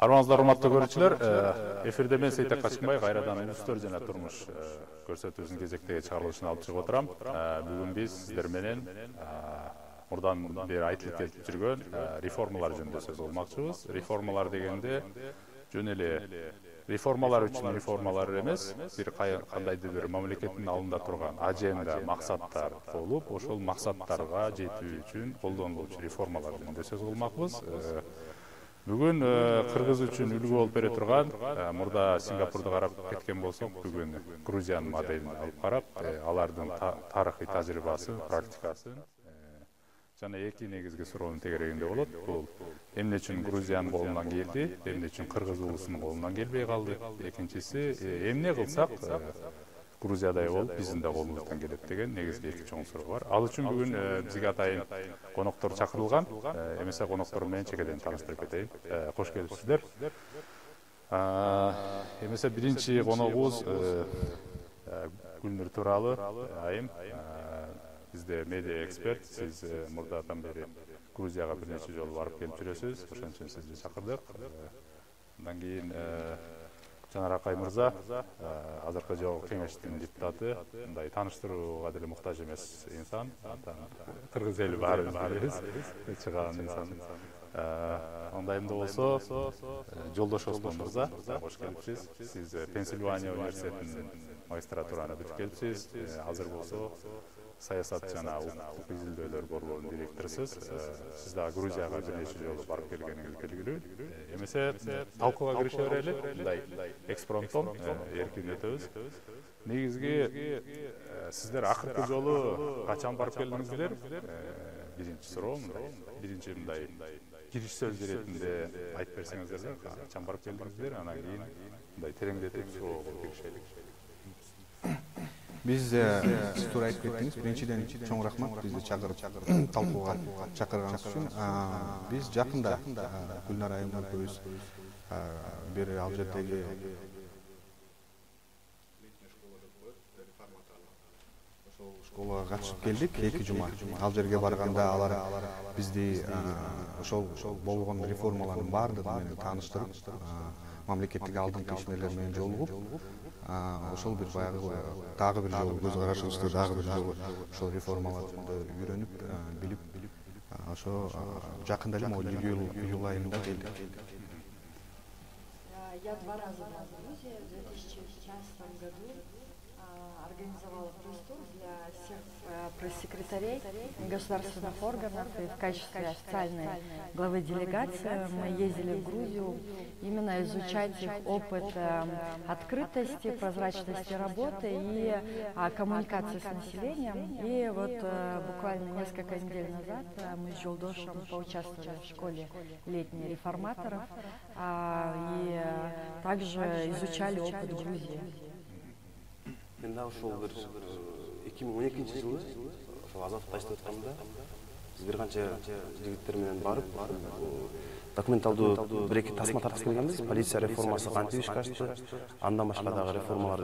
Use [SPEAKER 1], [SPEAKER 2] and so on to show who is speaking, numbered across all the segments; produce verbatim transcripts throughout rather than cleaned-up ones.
[SPEAKER 1] Саламатсыздар, урматтуу көрүүчүлөр. Эфирде мен Сейтек Качкынбай кайрадан Улустөр жана турмуш көрсөтүүсүнүн кезектеги чыгарылышына алып чыгып отурам. Бүгүн биз сиздер менен мурдан бери айтылып келип жүргөн реформалар жөнүндө сөз кылмакчыбыз. Реформалар дегенде жөн эле реформалар үчүн реформалар эмес, бир кандайдыр бир мамлекеттин алдында турган аженда, максаттар болуп, ошол максаттарга жетүү үчүн колдонулуучу реформалар жөнүндө сөз кылмакпыз. Бүгүн Кыргыз үчүн үлгү болуп бере турган, мурда Сингапурду карап кеткен болсок, бүгүн Грузиянын моделин алып карап, алардын тарыхый тажрыйбасы, практикасын жана эки негизги суроонун тегерегинде болот. Бул эмне үчүн Грузиянын колунан келди, эмне үчүн Кыргыз улусунун колунан келбей калды. Экинчиси, эмне кылсак Грузиядай болуп биздин да колубуздан келет деген негизги эки чоң суроо бар. Ал үчүн бүгүн бизге атайын коноктор чакырылган. Эмесе коноктор менен чекеден тааныштырып кетейин. Кош келипсиздер. Эмесе биринчи коногубуз Гүлнур Туралы айым. Бизде медиа эксперт. Сиз мурдадан бери Грузияга бир нече жолу барып келип жүрөсүз. Ошон үчүн сизди чакырдык. Андан кийин Жанар Акай мырза, азыркы жогорку кеңештин депутаты, мындай тааныштырууга деле муктаж эмес инсан. Кыргыз эли баарыбыз билебиз, чыган инсан. Андайымда болсо, Жолдош Оспон мырза, кош келипсиз. Сиз Пенсильвания университетинин магистратураны бүтүп келипсиз. Азыр болсо саясат жана улуттук изилдөөлөр борборунун директорусуз. Сиз да Грузияга бир нече жолу барып келгениңиз белгилүү. Эмесе талкууга кирише берели. Мындай экспромтом эркин өтөбүз. Негизги сиздер акыркы жолу качан барып келдиңиздер? Биринчи суроо мындай. Биринчи мындай кириш сөз иретинде айтып берсеңиздер, качан барып келдиңиздер? Анан кийин мындай тереңдетип суроого киришелик.
[SPEAKER 2] Биз сиз туура айтып кеттиңиз. Биринчиден чоң рахмат бизди чакырып талкууга чакырганыңыз үчүн. Биз жакында Гүлнар айым экөөбүз бир ал жердеги ошол школага катышып келдик эки жума. Ал жерге барганда алар бизди ошол болгон реформалардын баардыгы менен тааныштырып, мамлекеттик алдыңкы ишмерлер менен жолугуп, ошол бир баягы дагы бир жолу көз карашыбызды дагы бир жолу ошол реформалар жөнүндө үйрөнүп, билип, ошо жакында эле могу июль айында келдик.
[SPEAKER 3] Я два раза была в Грузии. В две тысячи шестнадцатом году организовала пресс-тур для всех пресс-секретарей государственных органов. И в качестве официальной главы делегации мы ездили в Грузию именно изучать их опыт открытости, прозрачности работы и коммуникации с населением. И вот буквально несколько недель назад мы с Жолдошем поучаствовали в школе летней реформаторов и также изучали опыт Грузии.
[SPEAKER 4] Мен да ошол бир эки миң он экинчи жылы ошол Азаттыкта иштеп атканда биз бир канча жигиттер менен барып, документалдуу бир эки тасма тарткысы келгенбиз. Полиция реформасы кантип ишке ашты, андан башка дагы реформалар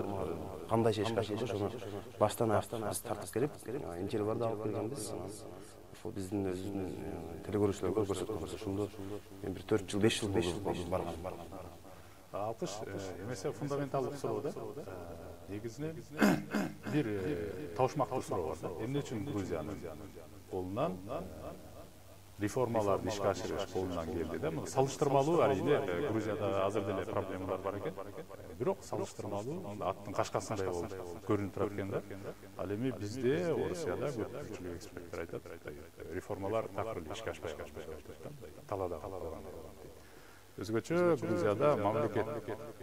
[SPEAKER 4] кандайча ишке ашылды, ошону баштан аяктан биз тартып келип, интервьюларды алып келгенбиз. Ошол биздин өзүбүздүн телекөрүүчүлөргө көрсөткөнбүз. Ошондо мен бир төрт жыл, беш жыл болду барган.
[SPEAKER 1] Алкыш, эмесе фундаменталдык суроо да. Негизинен бир табышмактуу суроо бар. Эмне үчүн Грузиянын колунан реформаларды ишке ашырыш колунан келди да? Мына салыштырмалуу, арийне Грузияда азыр деле проблемалар бар экен. Бирок салыштырмалуу аттын кашкасындай болуп көрүнүп турат экен да. Ал эми бизде, Орусияда көпчүлүк эксперттер айтат, реформалар так эле ишке ашпай калды да. Талаада калган. Өзгөчө Грузияда мамлекет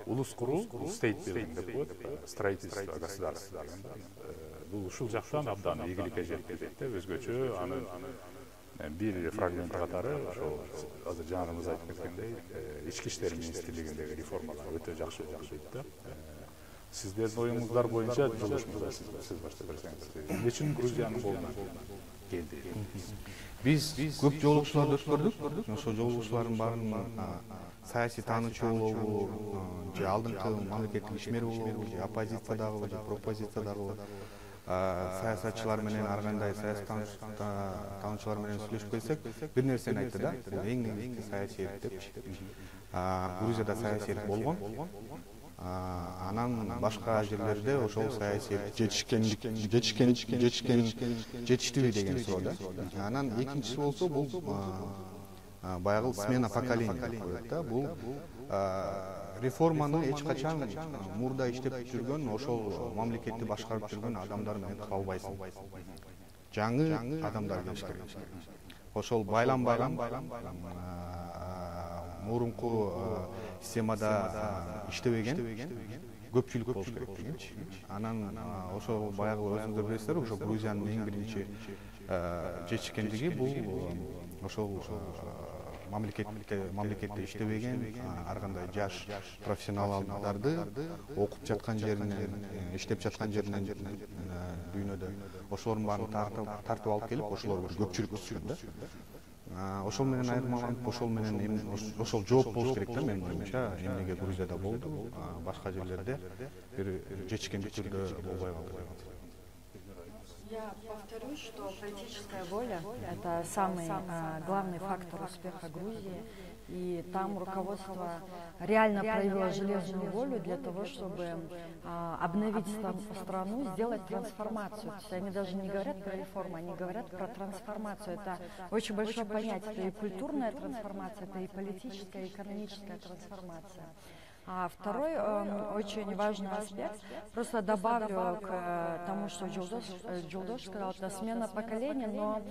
[SPEAKER 1] улус куруу, state building деп коет, строительство государства дегенде. Бул ушул жактан абдан ийгиликке жеткизет да. Өзгөчө анын бир фрагменти катары ошол азыр жанарыбыз айтып кеткендей, ички иштер министрлигиндеги реформалар өтө жакшы болду дейт да. Сиздердин оюңуздар боюнча Жолдош мырза, сиз баштап берсеңиз. Эмне үчүн Грузиянын колунан келди?
[SPEAKER 2] Биз көп жолугушууларды өткөрдүк. Ошол жолугушуулардын баарын саясий таануучу болобу, же алдыңкы мамлекеттик ишмер болобу, же оппозициядагы, же пропозициядагы саясатчылар менен ар кандай саясий таануучулар менен сүйлөшүп келсек, бир нерсени айтты да, бул эң негизги саясий эрк депчи. Грузияда саясий эрк болгон. Анан башка жерлерде ошол саясий жетишкен жетишкен жетишкен жетиштиби деген суроо да. Анан экинчиси болсо бул баягы смена поколения коет да. Бул реформаны эч качан мурда иштеп жүргөн, ошол мамлекетти башкарып жүргөн адамдар менен кыла албайсың. Жаңы адамдар келиш керек. Ошол байланбаган мурунку системада иштебеген көпчүлүк болуш керек дегенчи. Анан ошол баягы өзүңүздөр билесиздер, ошо Грузиянын эң биринчи жетишкендиги бул ошол мамлекетте мамлекетте иштебеген ар кандай жаш профессионалдарды окуп жаткан жеринен, иштеп жаткан жеринен дүйнөдө ошолордун баарын тартып алып келип, ошолорго көпчүлүк түшкөн да. Ошол менен айырмаланып, ошол менен ошол жооп болуш керек да, менин оюмча. Эмнеге Грузияда болду, башка жерлерде бир жетишкендик түрдө болбой калды.
[SPEAKER 3] Я повторюсь, что политическая воля – это самый а, главный фактор успеха Грузии. И там руководство реально проявило железную волю для того, чтобы а, обновить страну, сделать трансформацию. То есть они даже не говорят про реформу, они говорят про трансформацию. Это очень большое понятие. Это и культурная трансформация, это и политическая, и экономическая трансформация. А второй э, очень важный аспект, просто добавлю к э, тому, что Жолдош, э, Жолдош сказал, это смена поколения, но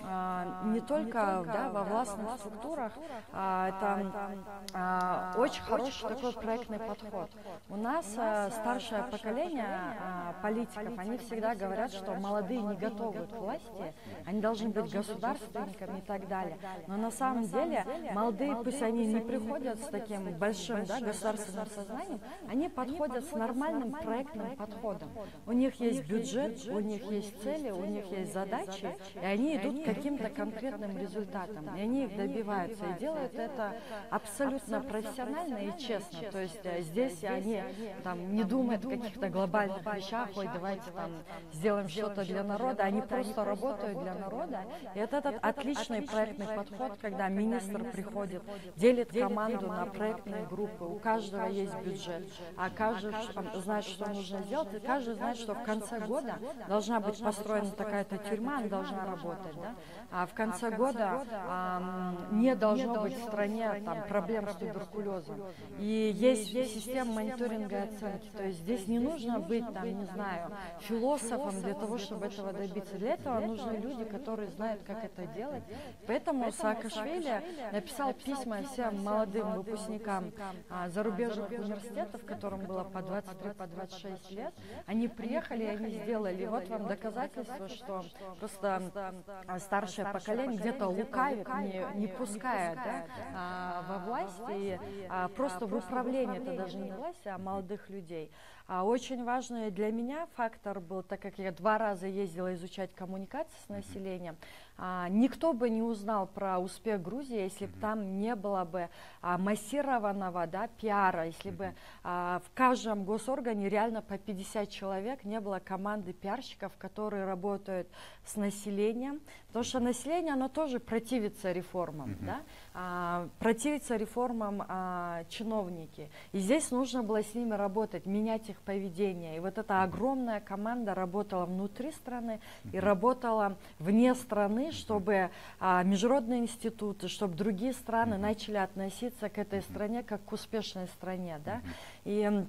[SPEAKER 3] э, не только да, во властных структурах, э, это э, очень хороший такой проектный подход. У нас э, старшее поколение э, политиков, они всегда говорят, что молодые не готовы к власти, они должны быть государственниками и так далее. Но на самом деле молодые, пусть они не приходят с таким большим да, государственным сознанием, они подходят с нормальным проектным подходом. У них есть бюджет, у них есть цели, у них есть задачи, и они идут к каким-то конкретным результатам, и они их добиваются, и делают это абсолютно профессионально и честно. То есть здесь они там, не думают о каких-то глобальных вещах, ой, давайте там сделаем что-то для народа, они просто работают для народа. И это этот отличный проектный подход, когда министр приходит, делит команду на проектные группы, у каждого есть бюджет, а каждый знает, что нужно сделать, и каждый знает, что в конце года должна быть построена такая-то тюрьма, она должна работать, да? А в конце года а, не должно быть в стране там, проблем с туберкулезом. И есть система мониторинга и оценки, то есть здесь не нужно быть, там, не знаю, философом для того, чтобы этого добиться. Для этого нужны люди, которые знают, как это делать. Поэтому Саакашвили написал письма всем молодым выпускникам а, зарубежных университетов, которым было по двадцать три, по двадцать шесть лет, они приехали, и они сделали. И вот вам доказательство, что просто старшее поколение где-то лукавит, не, не пуская да, а, во власть, и а, просто в управлении, это даже не власть, а молодых людей. А очень важный для меня фактор был, так как я два раза ездила изучать коммуникации с населением, а, никто бы не узнал про успех Грузии, если бы там не было бы а, массированного да, пиара, если бы а, в каждом госоргане реально по пятьдесят человек, не было команды пиарщиков, которые работают с населением, потому что население, оно тоже противится реформам, mm-hmm. да? а, противится реформам а, чиновники. И здесь нужно было с ними работать, менять их поведение. И вот эта огромная команда работала внутри страны и работала вне страны, чтобы а, международные институты, чтобы другие страны начали относиться к этой стране как к успешной стране. Да? И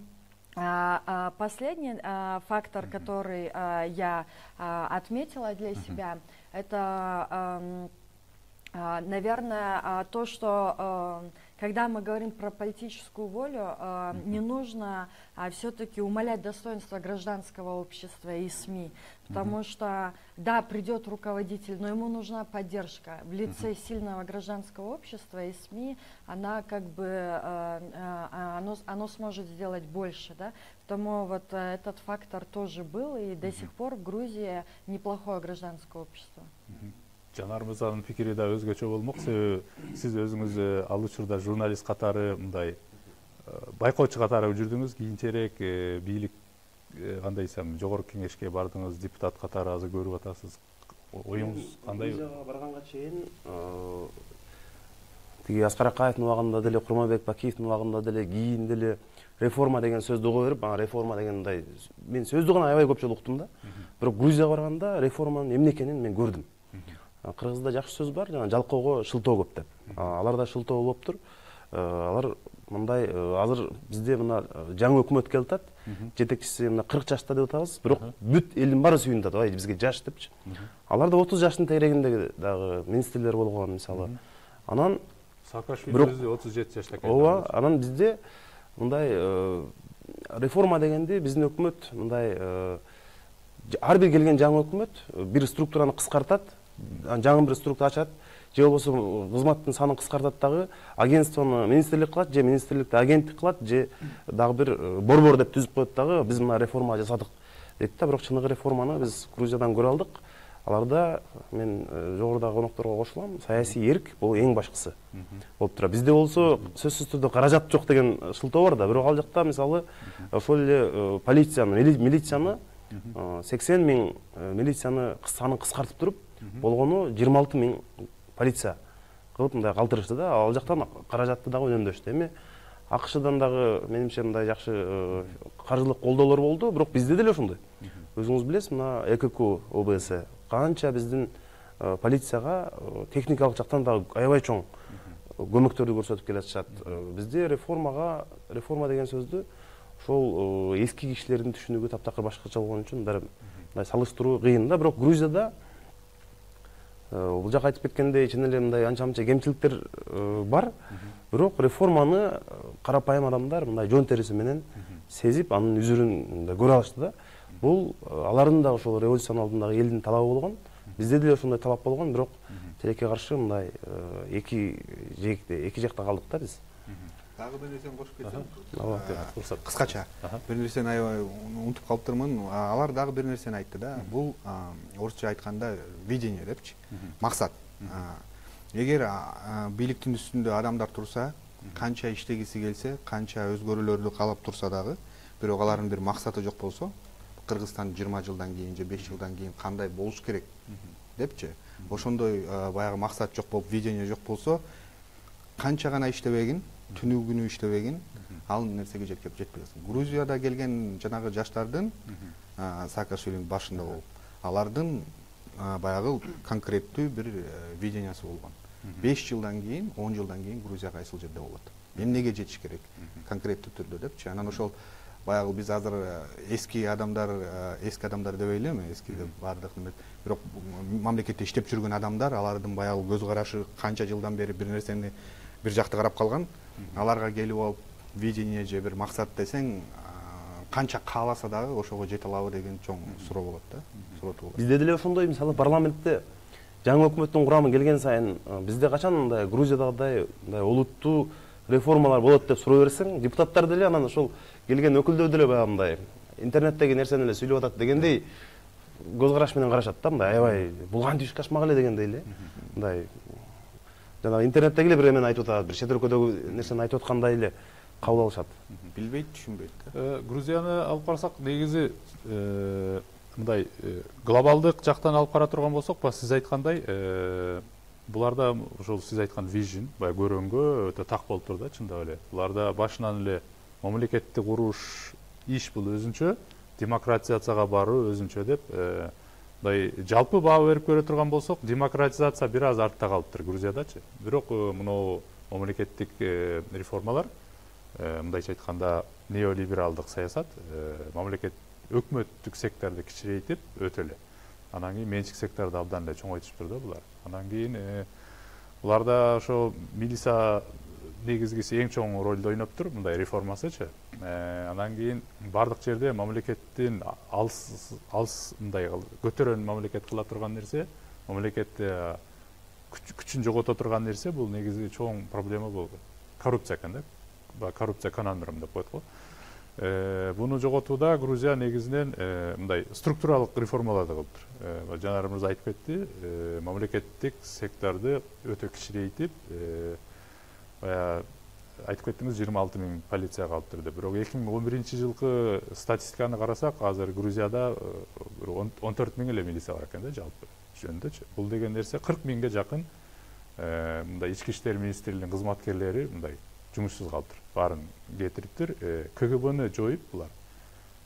[SPEAKER 3] а, а, последний а, фактор, который а, я а, отметила для себя, это, а, а, наверное, а, то, что а, когда мы говорим про политическую волю, а, не нужно а, все-таки умалять достоинство гражданского общества и СМИ, потому mm-hmm. что, да, придет руководитель, но ему нужна поддержка. В лице mm-hmm. сильного гражданского общества и СМИ, она как бы, а, а, оно, оно сможет сделать больше, да? Потому вот а, этот фактор тоже был, и mm-hmm. до сих пор в Грузии неплохое гражданское общество.
[SPEAKER 1] Mm-hmm. Жанар мырзанын пикири да өзгөчө болмок, себеби сиз өзүңүз ал учурда журналист катары мындай байкоочу катары жүрдүңүз, кийинчерээк бийлик кандай десем, жогорку кеңешке бардыңыз, депутат катары азыр көрүп атасыз. Оюңуз кандай?
[SPEAKER 4] Грузияга барганга чейин тиги Аскар Акаевдин убагында деле, Курманбек Бакиевдин убагында деле, кийин деле реформа деген сөздү уга берип, ана реформа деген мындай, мен сөздү гана аябай көп жолу уктум да. Бирок Грузияга барганда реформанын эмне экенин мен көрдүм. Кыргызда жакшы сөз бар, жана жалкоого шылтоо көп деп. Аларда шылтоо болуптур. Алар мындай азыр бизде мына жаңы өкмөт келип атат. Жетекчиси мына кырк жашта деп атабыз, бирок бүт элдин баары сүйүнүп атат, ай бизге жаш депчи. Аларда отуз жаштын тегерегинде дагы министрлер болгон, мисалы. Анан
[SPEAKER 1] Саакашвили өзү отуз жети жашта келди.
[SPEAKER 4] Ооба, анан бизде мындай реформа дегенди биздин өкмөт мындай ар бир келген жаңы өкмөт бир структураны кыскартат, жаңы бир структура ачат, же болбосо кызматтын санын кыскартат дагы, агентствону министрлик кылат, же министрликти агенттик кылат, же дагы бир борбор деп түзүп коет дагы, биз мына реформа жасадык дейт да. Бирок чыныгы реформаны биз Грузиядан көрө алдык. Аларда мен жогорудагы конокторго кошулам, саясий эрк бул эң башкысы болуп турат. Бизде болсо сөзсүз түрдө каражат жок деген шылтоо бар да, бирок ал жакта мисалы ошол эле полицияны, милицияны сексен миң милицияны санын кыскартып туруп, болгону жыйырма алты миң полиция кылып мындай калтырышты да. Ал жактан каражатты дагы үнөмдөштү. Эми АКШдан дагы менимче мындай жакшы каржылык колдоолор болду, бирок бизде деле ошондой. Өзүңүз билесиз, мына ЭКК ОБС канча биздин полицияга техникалык жактан дагы аябай чоң көмөктөрдү көрсөтүп келатышат. Бизде реформага, реформа деген сөздү ошол эски кишилердин түшүнүгү таптакыр башкача болгон үчүн бир мындай салыштыруу кыйын да. Бирок Грузияда бул жак айтып кеткендей чын эле мындай анча-мынча кемчиликтер бар. Бирок реформаны карапайым адамдар мындай жон териси менен сезип, анын үзүрүн көрө алышты да. Бул алардын да ошол революциянын алдындагы элдин талабы болгон. Бизде деле ошондой талап болгон, бирок тилекке каршы мындай эки жекте, эки жакта калдык да биз.
[SPEAKER 2] Дагы бир нерсени кошуп кетсем.
[SPEAKER 1] Ооба,
[SPEAKER 2] кыскача. Бир нерсени аябай унутуп калыптырмын. Алар дагы бир нерсени айтты да. Бул орусча айтканда видение депчи. Максат. Эгер бийликтин үстүндө адамдар турса, канча иштегиси келсе, канча өзгөрүүлөрдү каалап турса дагы, бирок алардын бир максаты жок болсо, Кыргызстан жыйырма жылдан кийин же беш жылдан кийин кандай болуш керек депчи. Ошондой баягы максат жок болуп, видение жок болсо, канча гана иштебегин, түнү күнү иштебегин, ал нерсеге жеткип жетпей калсын. Грузияда келген жанагы жаштардын Саакашвилинин башында болуп, алардын баягы конкреттүү бир видениясы болгон. беш жылдан кийин, он жылдан кийин Грузия кайсыл жерде болот, эмнеге жетиш керек конкреттүү түрдө депчи. Анан ошол баягы биз азыр эски адамдар, эски адамдар дебей элеми, эски деп баардык неме, бирок мамлекетте иштеп жүргөн адамдар, алардын баягы көз карашы канча жылдан бери бир нерсени бир жакта карап калган, аларга келип алып видение же бир максат десең, канча кааласа дагы ошого жете алабы деген чоң суроо болот да. Суроо болот.
[SPEAKER 4] Бизде деле ошондой, мисалы парламентте жаңы өкмөттүн курамы келген сайын, бизде качан мындай Грузиядагыдай мындай олуттуу реформалар болот деп суроо берсең, депутаттар деле анан ошол келген өкүлдөр деле баягы мындай интернеттеги нерсени эле сүйлөп атат дегендей көз караш менен карашат да, мындай аябай бул кантип иш кашмак эле дегендей эле. Мындай жана интернеттеги эле бир эмени айтып атат, бир чет өлкөдөгү нерсени айтып аткандай эле кабыл алышат.
[SPEAKER 2] Билбейт, түшүнбөйт
[SPEAKER 1] да. Грузияны алып карасак, негизи мындай глобалдык жактан алып кара турган болсок, ба сиз айткандай, буларда ошол сиз айткан вижн, баягы көрөнгө өтө так болуп тур да, чындап эле. Буларда башынан эле мамлекетти куруш иш бул өзүнчө, демократизацияга баруу өзүнчө деп, мындай жалпы баа берип көрө турган болсок, демократизация бир аз артта калыптыр Грузиядачы. Бирок мынау мамлекеттик реформалар, мындайча айтканда неолибералдык саясат, мамлекет өкмөттүк секторду кичирейтип өтө эле. Анан кийин менчик секторду абдан эле чоңойтушуптур да булар. Анан кийин буларда ошо милиция негизгиси эң чоң ролду ойноптур, мындай реформасычы. Анан кийин бардык жерде мамлекеттин алыс алыс мындай көтөрөн мамлекет кыла турган нерсе, мамлекетти күчүн жогото турган нерсе, бул негизи чоң проблема болгон. Коррупция экен да. Коррупция канандырым деп коет го. Буну жоготууда Грузия негизинен мындай структуралык реформаларды кылыптыр. Жанар мырза айтып кетти, мамлекеттик секторду өтө кичирейтип, айтып кеттиңиз жыйырма алты миң полиция калыптыр деп. Бирок эки миң он биринчи жылкы статистиканы карасак, азыр Грузияда он төрт миң эле милиция бар экен да жалпы жөнүндөчү. Бул деген нерсе кырк миңге жакын мындай ички иштер министрлигинин кызматкерлери мындай жумушсуз калыптыр. Баарын кетириптир. К Г Бны жоюп булар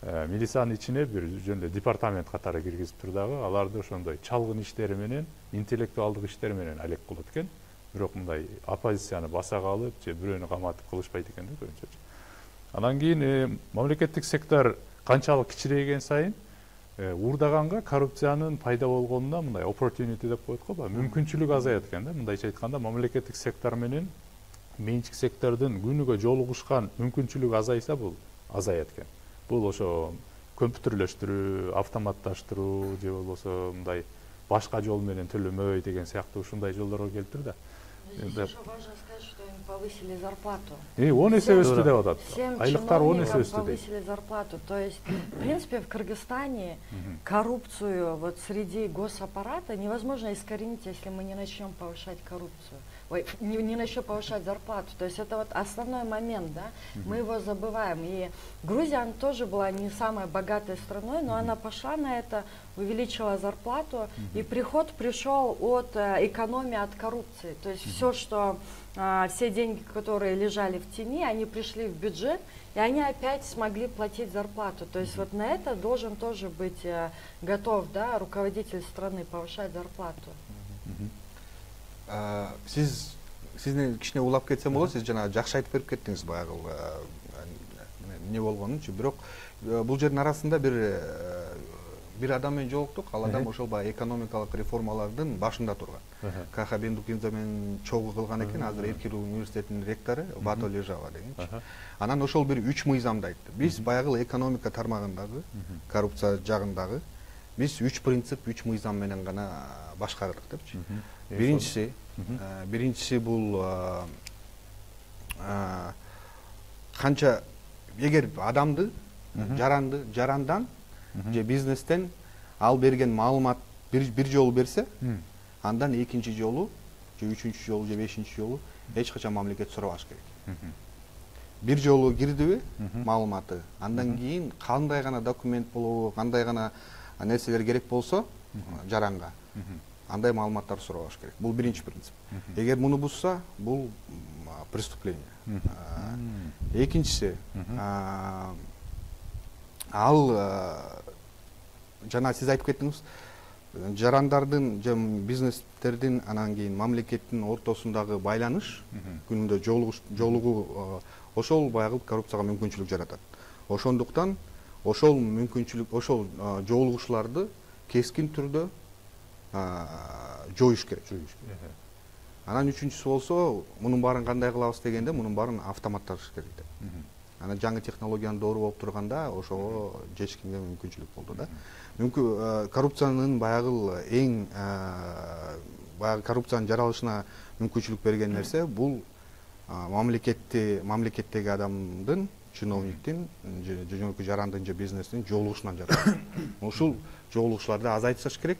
[SPEAKER 1] милициянын ичине бир жөн эле департамент катары киргизиптир дагы. Аларды ошондой чалгын иштери менен, интеллектуалдык иштери менен алек кылат экен. Бирок мындай оппозицияны баса калып, же бирөөнү каматып кылышпайт экен да көбүнчө. Анан кийин мамлекеттик сектор канчалык кичирейген сайын уурдаганга коррупциянын пайда болгонуна мындай opportunity деп коет го, мүмкүнчүлүк азаят экен да. Мындайча айтканда, мамлекеттик сектор менен менчик сектордун күнүгө жолугушкан мүмкүнчүлүгү азайса, бул азаят экен. Бул ошо компьютерлештирүү, автоматташтыруу же болбосо мындай башка жол менен төлөмөй деген сыяктуу ушундай жолдорго келиптир да.
[SPEAKER 3] Здесь еще важно сказать, что им повысили зарплату.
[SPEAKER 1] И он эсе өстү деп атат.
[SPEAKER 3] Всем
[SPEAKER 1] Айлыктар он эсе
[SPEAKER 3] чиновникам
[SPEAKER 1] өстү дейт.
[SPEAKER 3] повысили зарплату. То есть, в принципе, в Кыргызстане коррупцию вот среди госаппарата невозможно искоренить, если мы не начнем повышать коррупцию. Ой, не, не начнем повышать зарплату. То есть это вот основной момент, да, мы его забываем. И Грузия, она тоже была не самой богатой страной, но она пошла на это, увеличила зарплату, и приход пришел от э, экономии, от коррупции. То есть все, что, э, все деньги, которые лежали в тени, они пришли в бюджет, и они опять смогли платить зарплату. То есть вот на это должен тоже быть э, готов, да, руководитель страны повышать зарплату.
[SPEAKER 2] Сиз сиздин кичине улап кетсем болот, сиз жана жакшы айтып берип кеттиңиз баягы эмне болгонун. Бирок бул жердин арасында бир бир адам менен жолуктук. Ал адам ошол баягы экономикалык реформалардын башында турган. Каха Бендукинза менен чогуу кылган экен, азыр Эркин университетинин ректору Бато Лежава дегенчи. Анан ошол бир үч мыйзамды айтты. Биз баягы экономика тармагындагы, коррупция жагындагы биз үч принцип, үч мыйзам менен гана башкардык депчи. Биринчиси, биринчиси бул канча эгер адамды, жаранды, жарандан же бизнестен ал берген маалымат бир бир жолу берсе, андан экинчи жолу, же үчүнчү жолу, же бешинчи жолу эч качан мамлекет сурабаш керек. Бир жолу кирдиби маалыматы, андан кийин кандай гана документ болобу, кандай гана нерселер керек болсо жаранга, андай маалыматтар сурабаш керек. Бул биринчи принцип. Эгер муну бузса, бул преступление. Экинчиси, ал жана сиз айтып кеттиңиз, жарандардын же бизнестердин анан кийин мамлекеттин ортосундагы байланыш, күнүндө жолугуу ошол баягы коррупцияга мүмкүнчүлүк жаратат. Ошондуктан ошол мүмкүнчүлүк, ошол жолугушууларды кескин түрдө жоюш керек. Анан үчүнчүсү болсо, мунун баарын кандай кылабыз дегенде, мунун баарын автоматташ керек деп. Анан жаңы технологиянын доору болуп турганда ошого жечкенге мүмкүнчүлүк болду да. Мүмкүн коррупциянын баягы эң баягы коррупциянын жаралышына мүмкүнчүлүк берген нерсе бул мамлекетти мамлекеттеги адамдын, чиновниктин, жөнөкөй жарандын же бизнестин жолугушунан жаралат. Ушул жолугушууларды азайтыш керек,